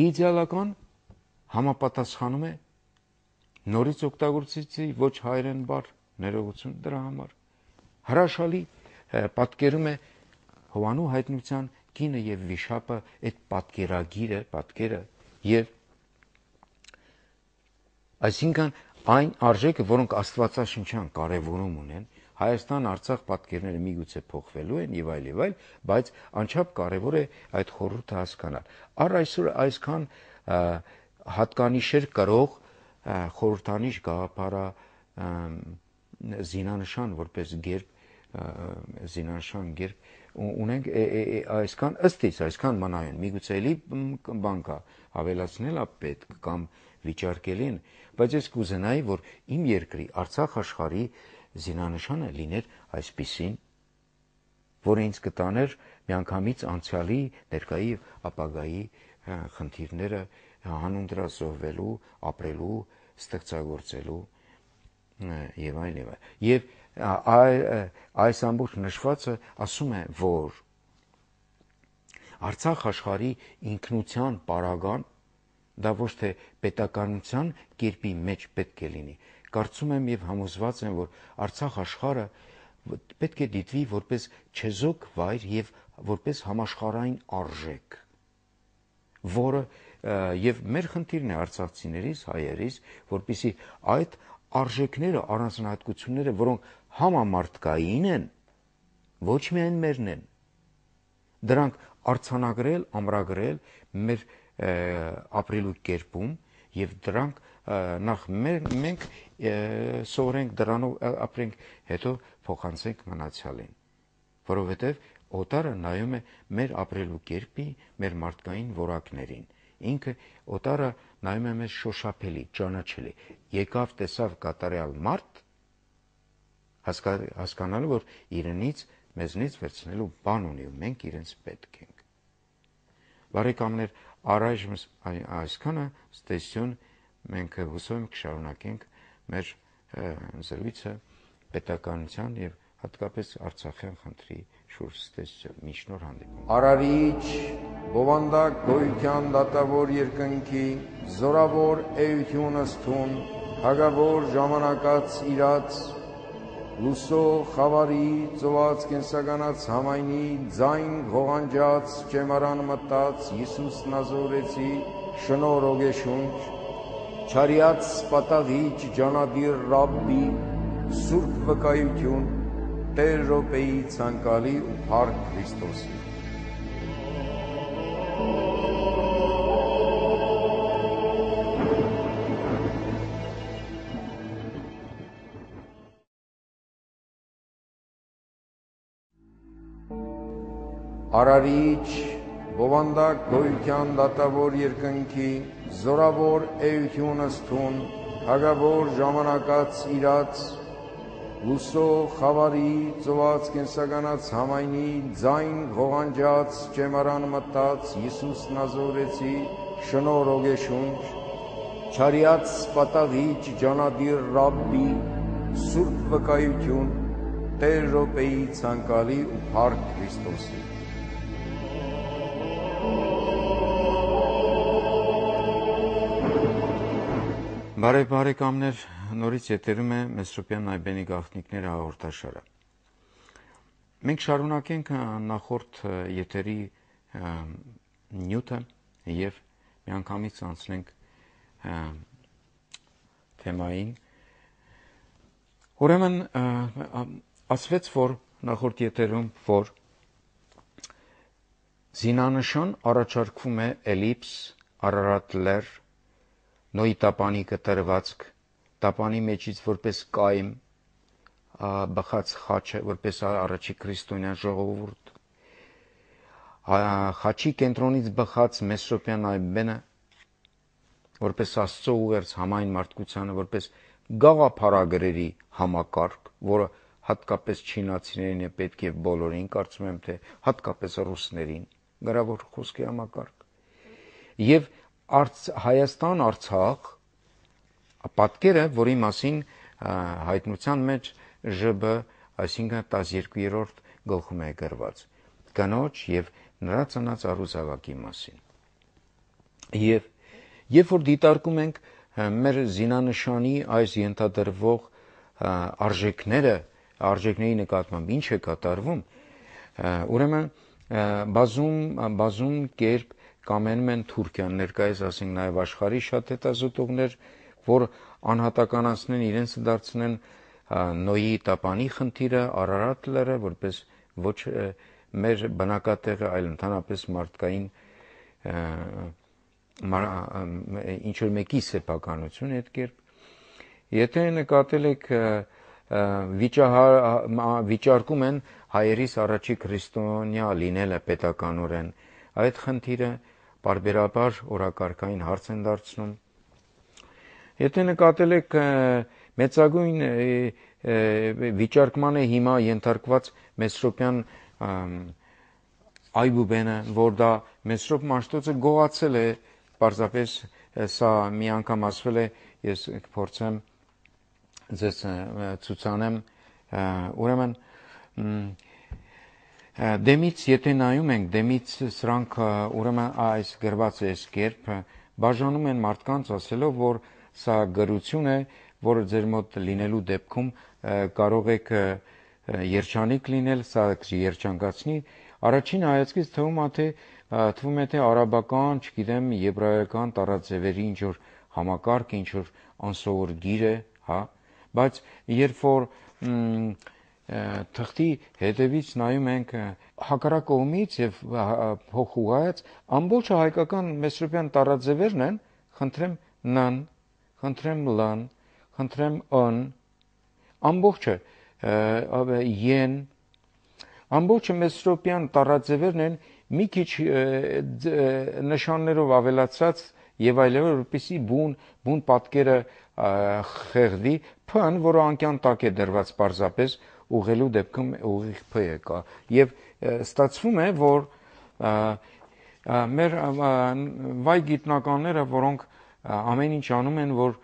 իդեալական համապատասխանում է նորից օգտագործեցի ոչ հայերեն բառ, ներողություն դրա համար, հրաշալի պատկերում է Հովանու հայտնության կինը եւ վիշապը, այդ պատկերագիրը, պատկերը եւ այսինքն այն արժեքը, որոնք աստվածաշնչյան կարևորում ունեն, Հայաստան-Արցախ պատկերները միգուցե փոխվելու են եւ այլ եւ այլ, բայց անչափ կարևոր է այդ խորհուրդը հասկանալ։ Առ այսօր այսքան հատկանիշեր կրող խորհրդանիշ գաղափարա զինանշան որպես գերբ, զինանշան գերբ ունենք այսքան ըստից, այսքան մնայուն, միգուցե էլի բան կա, հավելացնել է պետք կամ վիճարկելին, բայց ես կուզենայի, որ իմ երկրի Արցախ աշխարհի զինանշանը լիներ այսպիսին, որը ինձ կտաներ միանգամից անցյալի, ներկայի եւ ապագայի խնդիրները հանուն դրա զոհվելու, ապրելու, ստեղծագործելու եւ այլ եւ այլ։ Եվ այս ամբողջ նշվածը ասում է, որ Արցախ աշխարհի ինքնության պարագան դա ոչ թե պետականության կերպի մեջ պետք է լինի։ Կարծում եմ եւ համոզված եմ, որ Արցախ աշխարհը պետք է դիտվի որպես չեզոք վայր եւ որպես համաշխարհային արժեք, որը եւ մեր խնդիրն է արցախցիներից, հայերից, որպեսզի այդ արժեքները, առանձնահատկությունները, որոնք համամարտկային են, ոչ միայն մերն են, դրանք արձանագրել, ամրագրել մեր ապրելու կերպում եւ դրանք նախ մենք սովորենք դրանով ապրենք, հետո փոխանցենք մնացյալին, որովհետեւ օտարը նայում է մեր ապրելու կերպի, մեր մարդկային որակներին, ինքը օտարը նայում է մեզ շոշափելի, ճանաչելի, եկավ, տեսավ կատարյալ մարդ, հասկանալու, որ իրենից, մեզնից վերցնելու բան ունի ու մենք իրենց պետք ենք։ Բարեկամներ, առայժմ այսքանը, ստեսյուն, մենք հուսով ենք կշարունակենք մեր զրույցը պետականության եւ հատկապես Արցախյան խնդրի շուրջ ստեսյուն, մի շնոր հանդիպում։ Արարիչ, բովանդակ գոյության դատավոր երկնքի, զորավոր էությունս թուն, հագավոր ժամանակած իրաց, լուսո խավարի ծոված կենսականած համայնի ձայն ղողանջած ճեմարան մտած Հիսուս Նազորեցի շնոր ոգեշունչ չարյաց պատաղիչ ջանադիր Ռաբբի սուրբ վկայություն Տեր Ռոպեի ցանկալի ու փառք Քրիստոսի Արարիչ, բովանդակ գոյության դատավոր երկնքի, զորավոր էություն ըստուն, հագավոր ժամանակած իրաց, լուսո խավարի ծոված կենսականած համայնի ձայն ղողանջած ճեմարան մտած Հիսուս Նազորեցի շնոր ոգեշունչ, չարյաց պատաղիչ ջանադիր Ռաբբի սուրբ վկայություն Տեր Ռոպեի ցանկալի ու փառք Քրիստոսի Բարև բարեկամներ, նորից եթերում է Մեսրոպյան Նայբենի գաղտնիքները հաղորդաշարը։ Մենք շարունակենք նախորդ եթերի նյութը եւ միանգամից անցնենք թեմային։ Ուրեմն ասվեց, որ նախորդ եթերում, որ զինանշան առաջարկվում է էլիպս, Արարատ լեռ, Նոյի տապանի կտրվածք, տապանի մեջից որպես կայմ, բխած խաչը, որպես առաջի քրիստոնյա ժողովուրդ, խաչի կենտրոնից բխած Մեսրոպյան Նայբենը, որպես Աստծո ուղերձ համայն մարդկությանը, որպես գաղափարագրերի համակարգ, որը հատկապես չինացիներին է պետք եւ բոլորին, կարծում եմ, թե հատկապես ռուսներին, գրավոր խոսքի համակարգ, եւ Հայաստան Արցախ պատկերը, որի մասին հայտնության մեջ ԺԲ, այսինքն տասներկուերորդ գլխում է գրված, կնոջ եւ նրա ծնած առուզավակի մասին։ Եվ երբ որ դիտարկում ենք մեր զինանշանի այս ենթադրվող արժեքները, արժեքների նկատմամբ ինչ է կատարվում, ուրեմն բազում բազում կերպ կամենում են Թուրքիան, ներկայիս ասենք նաև աշխարհի շատ հետազոտողներ, որ անհատականացնեն, իրենց դարձնեն Նոյի տապանի խնդիրը, Արարատ լեռը, որպես ոչ մեր բնակատեղը, այլ ընդհանրապես մարդկային ինչ որ մեկի սեփականություն այդ կերպ։ Եթե նկատել եք վիճարկում են հայերիս առաջի քրիստոնյա լինելը պետականորեն, այդ խնդիրը բարբերաբար օրակարգային հարց են դարձնում։ Եթե նկատել եք մեծագույն վիճարկման է հիմա ենթարկված Մեսրոպյան Այբուբենը, որ դա Մեսրոպ Մաշտոցը գողացել է, պարզապես սա մի անգամ ասվել է, ես կփորձեմ ձեզ ցուցանեմ, ուրեմն դեմից եթե նայում ենք, դեմից սրանք ուրեմն այս գրված է այս կերպ, բաժանում են մարդկանց ասելով, որ սա գրություն է, որը ձեր մոտ լինելու դեպքում կարող եք երջանիկ լինել, սա երջանկացնի, առաջին հայացքից թվում է, թե թվում է, թե արաբական, չգիտեմ, եբրայական տարածևերի ինչ որ համակարգ, ինչ որ անսովոր գիր է, հա, բայց երբ որ թղթի հետևից նայում ենք հակառակ կողմից եւ փոխուղայց, ամբողջ հայկական մեսրոպյան տարածևերն են, խնդրեմ նն, խնդրեմ լան, խնդրեմ ըն, ամբողջը են, ամբողջը մեսրոպյան տարածևերն են մի քիչ նշաններով ավելացած եւ այլն, որպեսզի բուն բուն պատկերը խեղդի, փն, որը անկյան տակ է դրված պարզապես ուղղելու դեպքում ուղիղ փ է կա եւ ստացվում է, որ մեր վայ գիտնականները, որոնք ամեն ինչ անում են, որ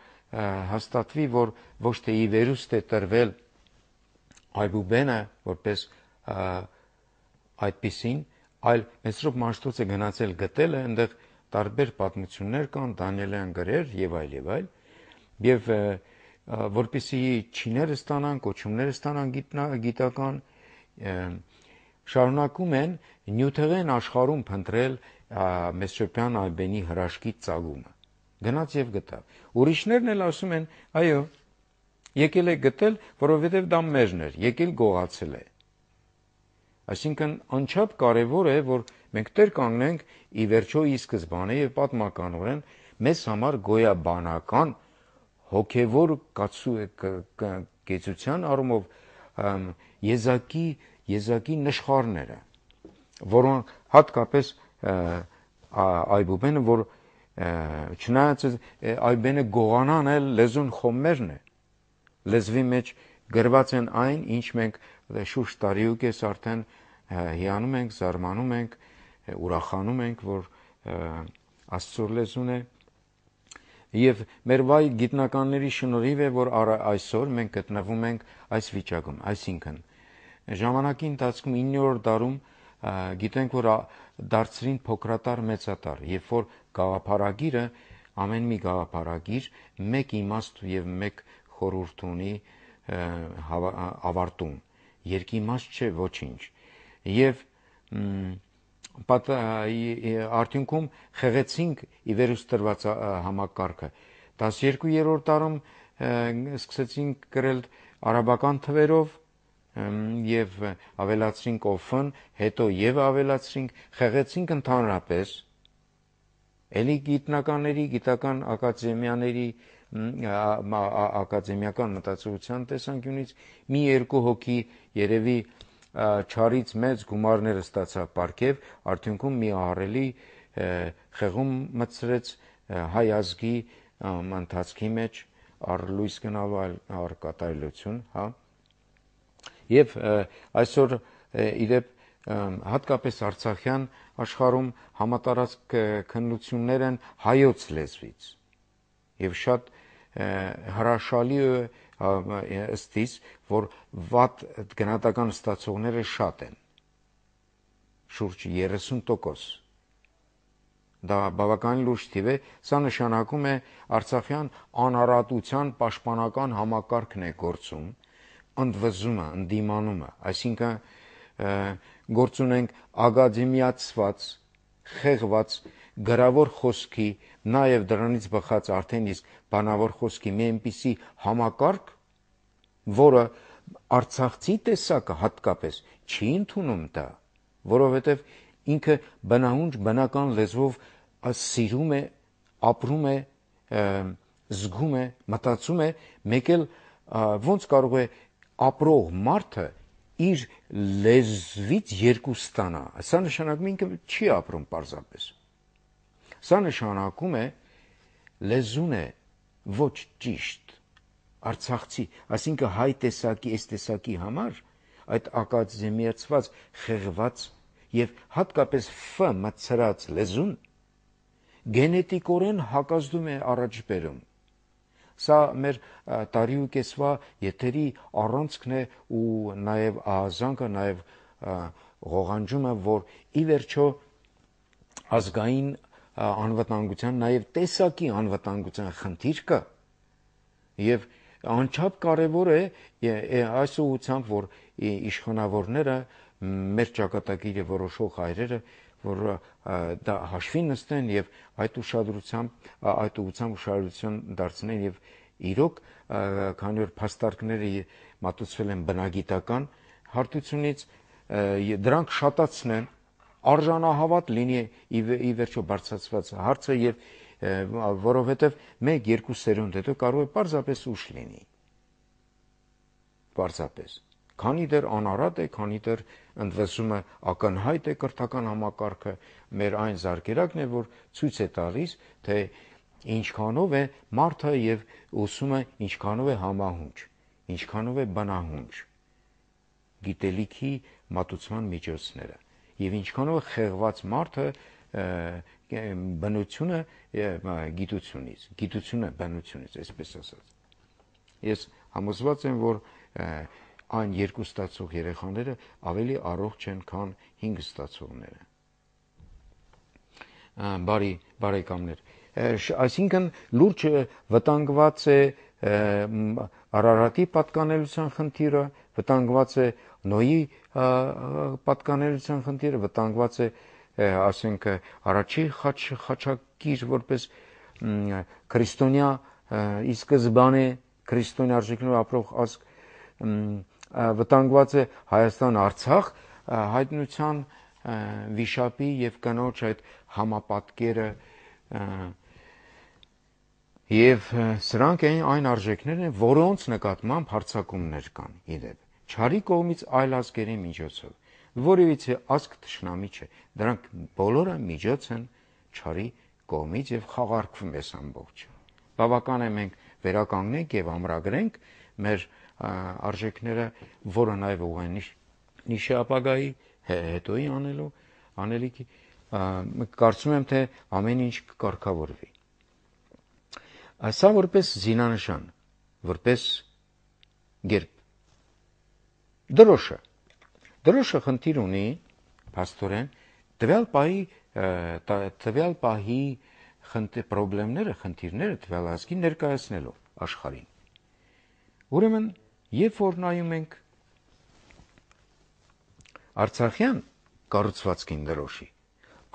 հաստատվի, որ ոչ թե ի վերուստ է տրվել Այբուբենը, որպես այդպիսին, այլ Մեսրոպ Մաշտոցը գնացել գտել է, այնտեղ տարբեր պատմություններ կան, Դանիելյան գրեր եւ այլ եւ այլ, եւ որպեսզի չիները ստանան, կոչումները ստանան գիտական, շարունակում են նյութեղեն աշխարհում փնտրել Մեսոպոթամիան այբենի հրաշքի ծագումը։ Գնաց եւ գտավ։ Ուրիշներն էլ ասում են, այո, եկել է գտել, որովհետև դա մերն էր, եկել գողացել է։ Այսինքն անչափ կարևոր է, որ մենք տեր կանգնենք ի վերջո ի սկզբանե եւ պատմականորեն մեզ համար գոյաբանական հոգևոր կեցության առումով եզակի եզակի նշխարները, որոնք հատկապես այբուբենը, որ չնայած այբենը գողանան էլ լեզուն խոմերն է, լեզվի մեջ գրված են այն, ինչ մենք շուրջ տարի ու կես արդեն հիանում ենք, զարմանում ենք, ուրախանում ենք, որ Աստծո լեզուն է, եւ մեր վայ գիտնականների շնորհիվ է, որ այսօր մենք գտնվում ենք այս վիճակում, այսինքն ժամանակի ընթացքում իններորդ դարում գիտենք, որ դարձրին փոքրատար մեծատար, երբ որ գաղափարագիրը ամեն մի գաղափարագիր մեկ իմաստ եւ մեկ խորհուրդ ունի ավարտում, երկիմաստ չէ ոչինչ, եւ արդյունքում խեղեցինք ի վերուս տրված համակարգը։ տասներկուերորդ դարում սկսեցինք գրել արաբական թվերով եւ ավելացրինք օֆն, հետո եւ ավելացրինք, խեղեցինք ընդհանրապես էլի գիտնականների, գիտական ակադեմիաների, ակադեմիական մտածողության տեսանկյունից մի երկու հոգի երևի չարից մեծ գումարները ստացավ պարգև, արդյունքում մի ահռելի խեղում մտցրեց հայ ազգի ընթացքի մեջ առ լույս գնալու առ կատարելություն, հա։ Եվ այսօր իրեւ հատկապես արցախյան աշխարհում համատարած քննություններ են հայոց լեզվից եւ շատ հրաշալի է ըստիս, որ վատ գնահատական ստացողները շատ են, շուրջ երեսուն տոկոս, դա բավականին լուրջ թիվ է, սա նշանակում է արցախյան անարատության պաշտպանական համակարգն է գործում, ընդվզումը, ընդդիմանումը, այսինքն գործ ունենք ակադեմիացված, խեղված գրավոր խոսքի, նաև դրանից բխած արդեն իսկ բանավոր խոսքի մի այնպիսի համակարգ, որը արցախցի տեսակը հատկապես չի ընդունում դա, որովհետև ինքը բնահունչ բնական լեզվով սիրում է, ապրում է, զգում է, մտածում է, մեկ էլ ոնց կարող է ապրող մարդը իր լեզվից երկու ստանա, սա նշանակում է ինքը չի ապրում պարզապես, սա նշանակում է լեզուն է ոչ ճիշտ, արցախցի, այսինքն հայ տեսակի, այս տեսակի համար այդ ակադեմիացված, խեղված եւ հատկապես ֆ մտցրած լեզուն գենետիկորեն հակազդում է առաջ բերում։ Սա մեր տարի ու կեսվա եթերի առանցքն է ու նաև ահազանգը, նաև ղողանջումը, որ ի վերջո ազգային անվտանգության, նաև տեսակի անվտանգության խնդիր կա եւ անչափ կարևոր է այս ուղղությամբ, որ իշխանավորները, մեր ճակատագիրը որոշող հայրերը, որ դա հաշվի նստեն եւ այդ ուշադրությամբ, այդ ուղղությամբ ուշադրություն դարձնեն եւ իրոք, քանի որ փաստարկները մատուցվել են բնագիտական հարթությունից, դրանք շատացնեն, արժանահավատ լինի ի վերջո բարձրացված հարցը եւ որովհետեւ մեկ երկու սերունդ հետո կարող է պարզապես ուշ լինի, պարզապես, քանի դեռ անարատ է, քանի դեռ ընդվզումը ակնհայտ է կրթական համակարգը, մեր այն զարկերակն է, որ ցույց է տալիս, թե ինչքանով է մարդը եւ ուսումը ինչքանով է համահունչ, ինչքանով է բնահունչ գիտելիքի մատուցման միջոցները եւ ինչքանով է խեղված մարդը բնությունը գիտությունից, գիտությունը բնությունից, այսպես ասած։ Ես համոզված եմ, որ այն երկու ստացող երեխաները ավելի առողջ են, քան հինգ ստացողները։ Բարի բարեկամներ, այսինքն լուրջ վտանգված է Արարատի պատկանելության խնդիրը, վտանգված է Նոյի պատկանելության խնդիրը, վտանգված է, ասենք, առաջի խաչակիր որպես քրիստոնյա ի սկզբանե քրիստոնյա արժեքներով ապրող ազգ, վտանգված է Հայաստան-Արցախ հայտնության վիշապի եւ կնոջ այդ համապատկերը, եւ սրանք այն արժեքներն են, որոնց նկատմամբ հարձակումներ կան իդեպ չարի կողմից այլ ազգերի միջոցով, որևիցե ազգ թշնամի չէ, դրանք բոլորը միջոց են չարի կողմից եւ խաղարկվում է ամբողջը։ Բավական է մենք վերականգնենք եւ ամրագրենք մեր արժեքները, որը նաեւ ուղղեն նիշի ապագայի հետոյի անելու անելիքի, կարծում եմ թե ամեն ինչ կկարգավորվի։ Սա որպես զինանշան, որպես գերբ։ Դրոշը դրոշը խնդիր ունի փաստորեն տվյալ պահի տվյալ պահի խնդիրները, խնդիրները տվյալ ազգի ներկայացնելու աշխարհին։ Ուրեմն, երբ որ նայում ենք Արցախյան կառուցվածքին դրոշի,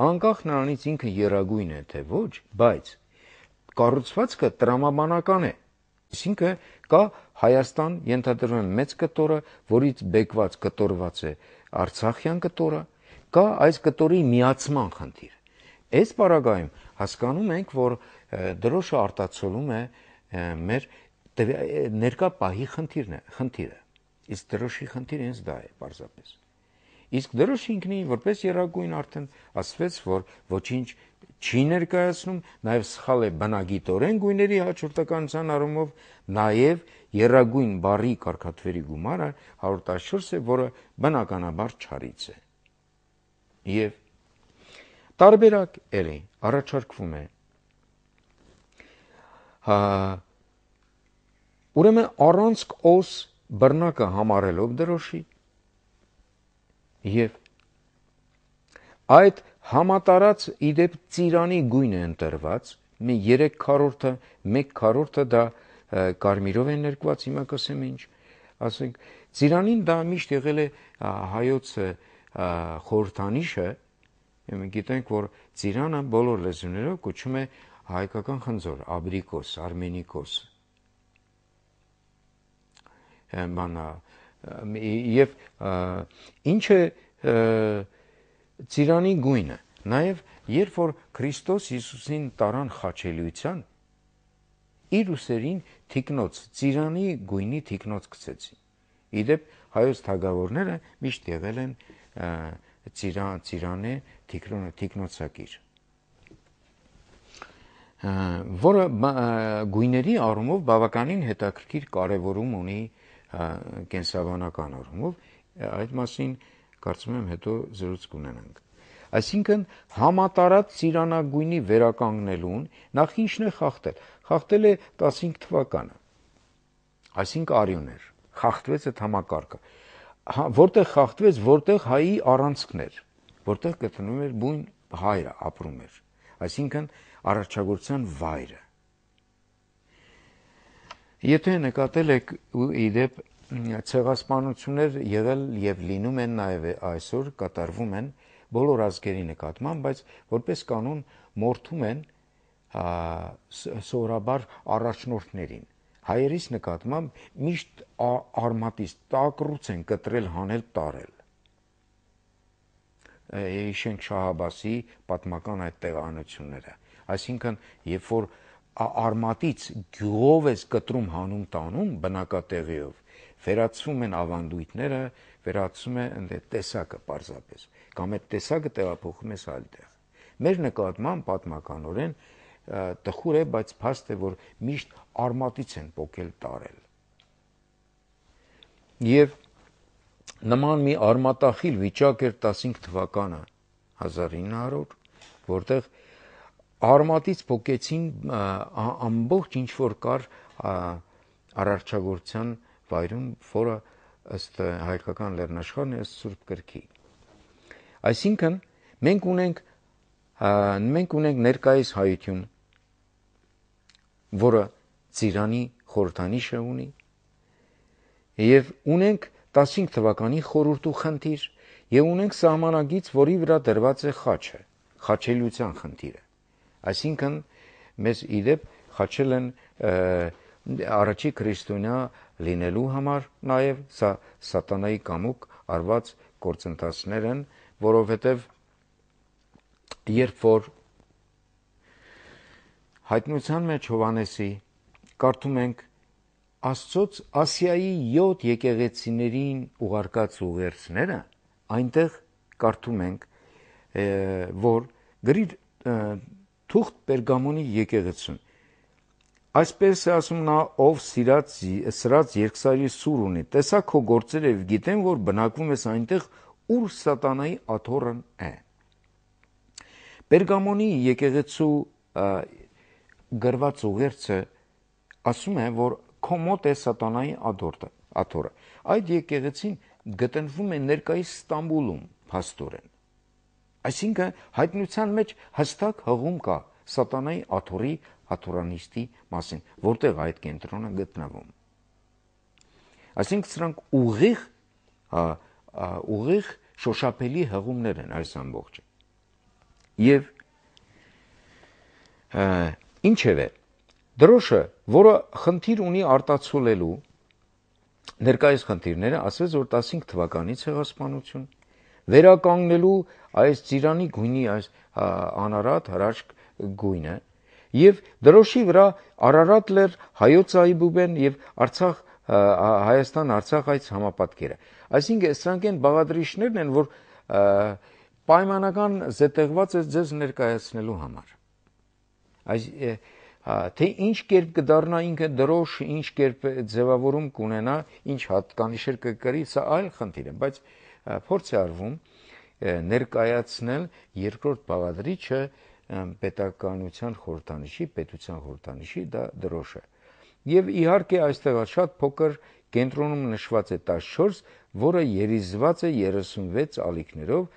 անկախ նրանից ինքը եռագույն է թե ոչ, բայց կառուցվածքը տրամաբանական է, այսինքն կա Հայաստան ենթադրվում մեծ կտորը, որից բեկված կտորված է Արցախյան կտորը, կա այս կտորի միացման խնդիր։ Այս պարագայում հասկանում ենք, որ դրոշը արտացոլում է մեր ներկա պահի խնդիրն է, խնդիրը։ Իսկ դրոշի խնդիրը հենց դա է պարզապես։ Իսկ դրոշը ինքնին որպես եռագույն արդեն ասվեց, որ ոչինչ չի ներկայացնում, նաև սխալ է բնագիտորեն գույների հաջորդականության առումով, նաև եռագույն բառի կարգաթվերի գումարը հարյուր տասնչորս է, որը բնականաբար չարից է։ Եվ տարբերակ էլի առաջարկվում է։ Հա ուրեմն առանց օս բռնակը համարելով դրոշի եւ այդ համատարած իդեպ ծիրանի գույն է ընտրված, մի երեք քառորդը, մեկ քառորդը դա կարմիրով է ներկված, հիմա կասեմ ինչ, ասենք, ծիրանին դա միշտ եղել է հայոց խորհրդանիշը, մենք գիտենք, որ ծիրանը բոլոր լեզուներով կոչում է հայկական խնձոր, աբրիկոս, արմենիկոս, եւ ինչ է ծիրանի գույնը, նաեւ երբ որ Քրիստոս Հիսուսին տարան խաչելիության, իր ուսերին թիկնոց, ծիրանի գույնի թիկնոց գցեցին։ Իդեպ հայոց թագավորները միշտ եղել են ծիրան, ծիրանե թիկնոցակիր, որը գույների առումով բավականին հետաքրքիր կարևորում ունի կենսաբանական առումով, այդ մասին կարծում եմ հետո զրույց կունենանք։ Այսինքն համատարած ծիրանագույնի վերականգնելուն նախ ինչն է խախտել։ Խախտել է տասնհինգ թվականը, այսինքն արյուն էր, խախտվեց այդ համակարգը, որտեղ խախտվեց, որտեղ հայի առանցքն էր, որտեղ գտնվում էր բուն հայրը ապրում էր, այսինքն առաջագործության վայրը։ Եթե նկատել եք իդեպ ցեղասպանություններ եղել եւ լինում են նաեւ այսօր կատարվում են բոլոր ազգերի նկատմամբ, բայց որպես կանոն մորթում են սովորաբար առաջնորդներին։ Հայերիս նկատմամբ միշտ արմատից տակռուց են կտրել, հանել, տարել։ Հիշենք Շահ Աբասի պատմական այդ տեղանությունները։ Այսինքն, երբ որ արմատից գյուղով ես կտրում հանում տանում բնակատեղիով, վերացվում են ավանդույթները, վերացվում է ընդ տեսակը պարզապես, կամ այդ տեսակը տեղափոխում ես այլ տեղ։ Մեր նկատմամբ պատմականորեն տխուր է, բայց փաստ է, որ միշտ արմատից են պոկել տարել։ Եվ նման մի արմատախիլ վիճակ էր տասնհինգ թվականը, հազար ինը հարյուր, որտեղ արմատից պոկեցին ամբողջ ինչ որ կար արարչագործության վայրում, որը ըստ հայկական լեռնաշխարհն է, ըստ Սուրբ Գրքի։ Այսինքն մենք ունենք մենք ունենք ներկայիս հայություն, որը ծիրանի խորհրդանիշը ունի, եւ ունենք տասնհինգ թվականի խորհուրդ ու խնդիր, եւ ունենք սահմանագիծ, որի վրա դրված է խաչը, խաչելիության խնդիրը։ Այսինքն մեզ իդեպ խաչել են առաջի քրիստոնյա լինելու համար, նաեւ սա սատանայի կամուկ արված գործընթացներ են, որովհետեւ երբ որ հայտնության մեջ Հովհաննեսի կարդում ենք Աստծոց Ասիայի յոթ եկեղեցիներին ուղարկած ուղերձները, այնտեղ կարդում ենք, որ գրիր թուղթ Պերգամոնի եկեղեցուն։ Այսպես է ասում նա, ով սիրած սրած երկսարի սուր ունի, տեսա քո գործերը եւ գիտեմ, որ բնակվում ես այնտեղ, ուր սատանայի աթոռն է։ Պերգամոնի եկեղեցու գրված ուղերձը ասում է, որ քո մոտ է սատանայի աթոռը։ Այդ եկեղեցին գտնվում է ներկայիս Ստամբուլում, փաստորեն։ Այսինքն հայտնության մեջ հստակ հղում կա սատանայի աթոռի աթոռանիստի մասին, որտեղ այդ կենտրոնը գտնվում։ Այսինքն սրանք ուղիղ ուղիղ շոշափելի հղումներ են այս ամբողջը։ Եվ ինչևէ, դրոշը, որը խնդիր ունի արտացոլելու ներկայիս խնդիրները, ասես որ տասնհինգ թվականի ցեղասպանություն, վերականգնելու այս ծիրանի գույնի այս անարատ հրաշք գույնը եւ դրոշի վրա Արարատ լեռ, հայոց Այբուբեն եւ Արցախ Հայաստան Արցախ այս համապատկերը։ Այսինքն սրանք են բաղադրիչներն են, որ պայմանական զետեղված է ձեզ ներկայացնելու համար։ Այս թե ինչ կերպ կդառնա ինքը դրոշ, ինչ կերպ ձևավորում կունենա, ինչ հատկանիշեր կկրի, սա այլ խնդիր է, բայց փորձ է արվում ներկայացնել երկրորդ բաղադրիչը պետականության խորհրդանիշի, պետության խորհրդանիշի, դա դրոշը։ Եվ իհարկե այստեղ շատ փոքր կենտրոնում նշված է տասնչորս, որը երիզված է երեսունվեց ալիքներով,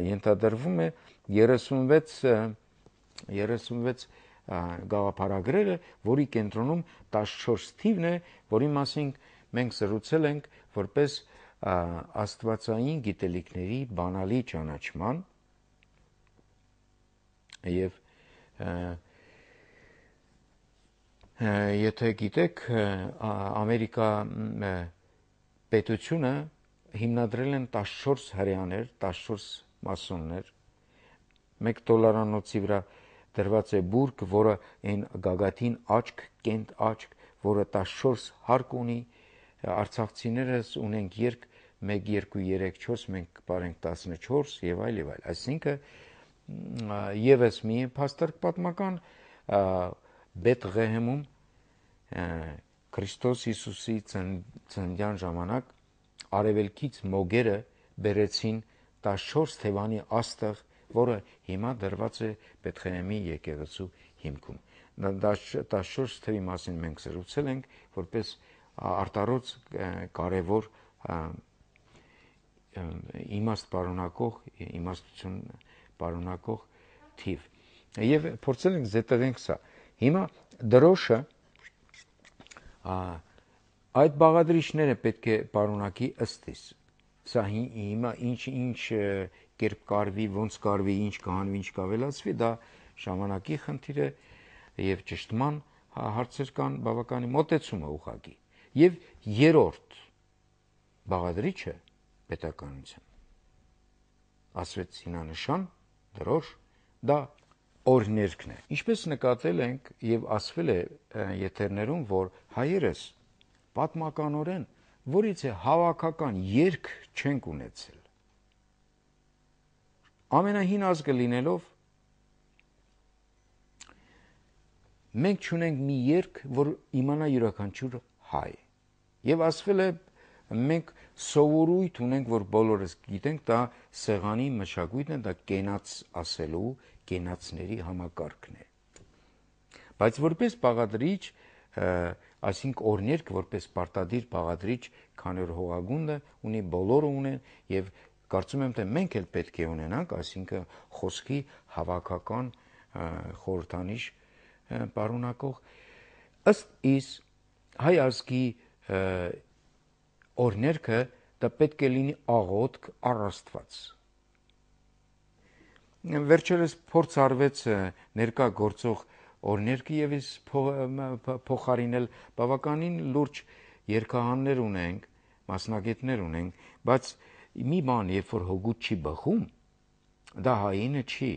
ենթադրվում է երեսունվեց երեսունվեց գաղափարագրերը, որի կենտրոնում տասնչորս թիվն է, որի մասին մենք զրուցել ենք որպես աստվածային գիտելիքների բանալի ճանաչման եւ եթե գիտեք, Ամերիկա պետությունը հիմնադրել են տասնչորս հրեաներ, տասնչորս մասոններ, մեկ դոլարանոցի վրա դրված է բուրգ, որը այն գագաթին աչք, կենտ աչք, որը տասնչորս հարկ ունի, արցախցիներս ունենք երկ, մեկ, երկու, երեք, չորս, մենք բարենք տասնչորս եւ այլ եւ այլ։ Այսինքն եւս մի փաստարկ պատմական Բեթղեհեմում Քրիստոս Հիսուսի ծննդյան ժամանակ արևելքից մոգերը բերեցին տասնչորս թևանի աստղ, որը հիմա դրված է Բեթղեհեմի եկեղեցու հիմքում։ տասնչորս թվի մասին մենք զրուցել ենք որպես արտարոց կարևոր իմաստ պարունակող, իմաստություն պարունակող թիվ։ Եվ փորձել ենք զետեղենք սա։ Հիմա դրոշը այդ բաղադրիչները պետք է պարունակի ըստիս։ Սա հիմա ինչ ինչ կերպ կարվի, ոնց կարվի, ինչ կանվի, ինչ կավելացվի, դա ժամանակի խնդիր է եւ ճշտման հարցեր կան բավականի մոտեցումը ուղղակի։ Եվ երրորդ բաղադրիչը պետականության։ Ասվեց հինանշան, դրոշ, դա օրհներգն է։ Ինչպես նկատել ենք եւ ասվել է եթերներում, որ հայերս պատմականորեն որից է հավաքական երգ չենք ունեցել։ Ամենահին ազգը լինելով մենք չունենք մի երգ, որ իմանա յուրաքանչյուր հայ։ Եվ ասվել է մենք սովորույթ ունենք, որ բոլորս գիտենք, դա սեղանի մշակույթն է, դա կենաց ասելու, կենացների համակարգն է։ Բայց որպես բաղադրիչ, այսինքն օրհներգ, որպես պարտադիր բաղադրիչ, քանի որ հողագունդը ունի, բոլորը ունեն եւ կարծում եմ թե մենք էլ պետք է ունենանք, այսինքն խոսքի հավաքական խորհրդանիշ պարունակող ըստ իս հայ ազգի օրներքը դա պետք է լինի աղոթք առ Աստված։ Վերջերս փորձ արվեց ներկա գործող օրներքը եւ իս փոխարինել բավականին լուրջ երկհաններ ունենք, մասնագետներ ունենք, բայց մի բան, երբ որ հոգուտ չի բխում, դա հայինը չի։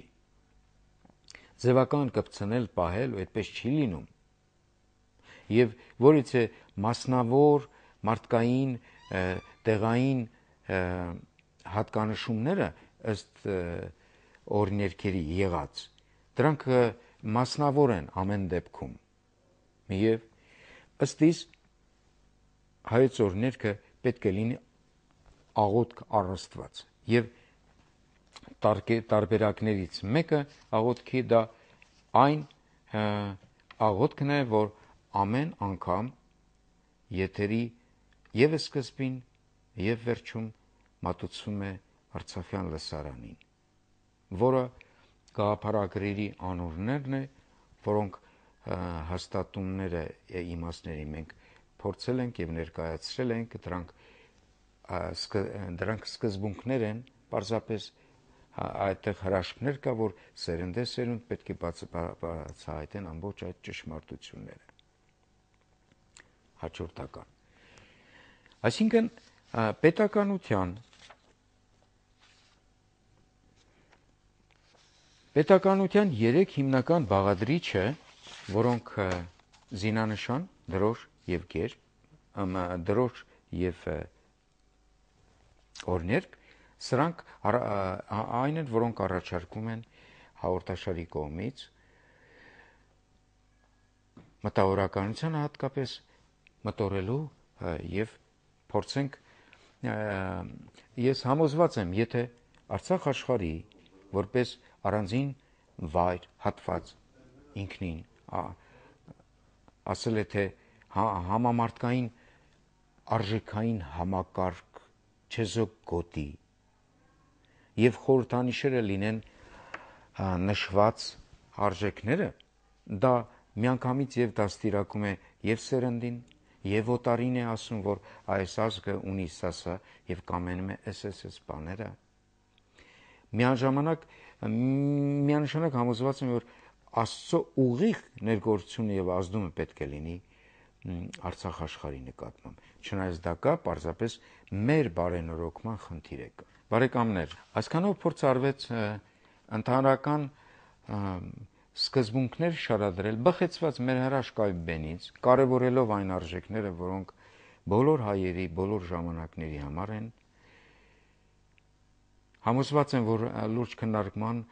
Ձևական կպցնել, պահել ու այդպես չի լինում։ Եվ որից է մասնավոր, մարդկային, տեղային հատկանշումները ըստ օրներքերի եղած, դրանք մասնավոր են ամեն դեպքում։ Եվ ըստ իս հայոց օրներքը պետք է լինի աղոթք առ Աստված։ Եվ տարբերակներից մեկը աղոթքի դա այն աղոթքն է, որ ամեն անգամ եթերի եւ սկզբին եւ վերջում մատուցվում է Արցախյան լսարանին, որը գաղափարագրերի անուններն է, որոնք հաստատումները իմաստների մենք փորձել ենք եւ ներկայացրել ենք, դրանք դրանք սկզբունքներ են, պարզապես այդտեղ հրաշքներ կա, որ սերնդեսերունդ պետք է բացահայտեն ամբողջ այդ ճշմարտությունները։ Հաջորդական։ Այսինքն պետականության պետականության երեք հիմնական բաղադրիչը, որոնք զինանշան, դրոշ եւ գեր, դրոշ եւ օրներք, սրանք այն են, որոնք առաջարկում են հաղորդաշարի կողմից մտավորականությանը հատկապես մտորելու եւ փորձենք ես համոզված եմ, եթե Արցախ աշխարհի որպես առանձին վայր հատված ինքնին ասել է թե համամարտկային արժեքային համակարգ չեզոք գոտի եւ խորհրդանիշերը լինեն նշված արժեքները, դա միանգամից եւ դաստիարակում է եւ սերնդին եւ օտարին է ասում, որ այս ազգը ունի սասա եւ կամենում է էս էս էս բաները։ Միաժամանակ միանշանակ համոզված եմ, որ Աստծո ուղիղ ներգործությունը եւ ազդումը պետք է լինի Արցախ աշխարհի նկատմամբ։ Չնայած դա կա, պարզապես մեր բարենորոգման խնդիր է։ Բարեկամներ, այսքանով փորձ արվեց ընդհանրական սկզբունքներ շարադրել, բխեցված մեր հրաշքայ բենից, կարևորելով այն արժեքները, որոնք բոլոր հայերի, բոլոր ժամանակների համար են։ Համոզված եմ, որ լուրջ քննարկման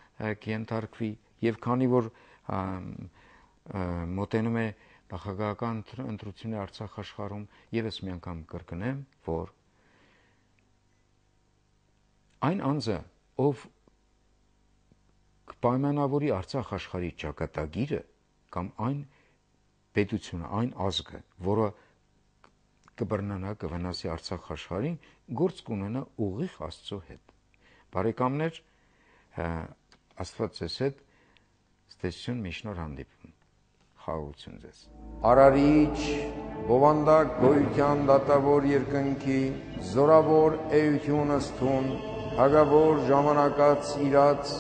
կենթարկվի եւ քանի որ մոտենում է նախագահական ընտրությունները Արցախ աշխարհում, եւս մի անգամ կրկնեմ, որ այն անձը, ով կպայմանավորի Արցախ աշխարհի ճակատագիրը կամ այն պետությունը, այն ազգը, որը կբռնանա, կվնասի Արցախ աշխարհին, գործ կունենա ուղիղ Աստծո հետ։ Բարեկամներ, Աստված ձեզ հետ, ստեսություն միշնոր հանդիպում, խաղաղություն ձեզ։ Արարիչ, բովանդակ գոյության դատավոր երկնքի, զորավոր էությունը ստուն, հագավոր ժամանակած իրաց,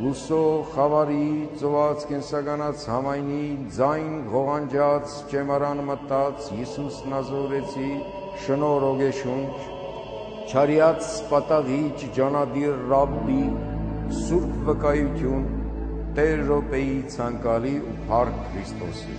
լուսո խավարի, ծոված կենսականած համայնի, ձայն ղողանջած, ճեմարան մտած, Յիսուս Նազորեցի, շնոր ոգեշունչ, չարյաց պատաղիչ ջանադիր ռաբբի, սուրբ վկայություն, Տեր Ռոպեի ցանկալի ու փառք Քրիստոսի։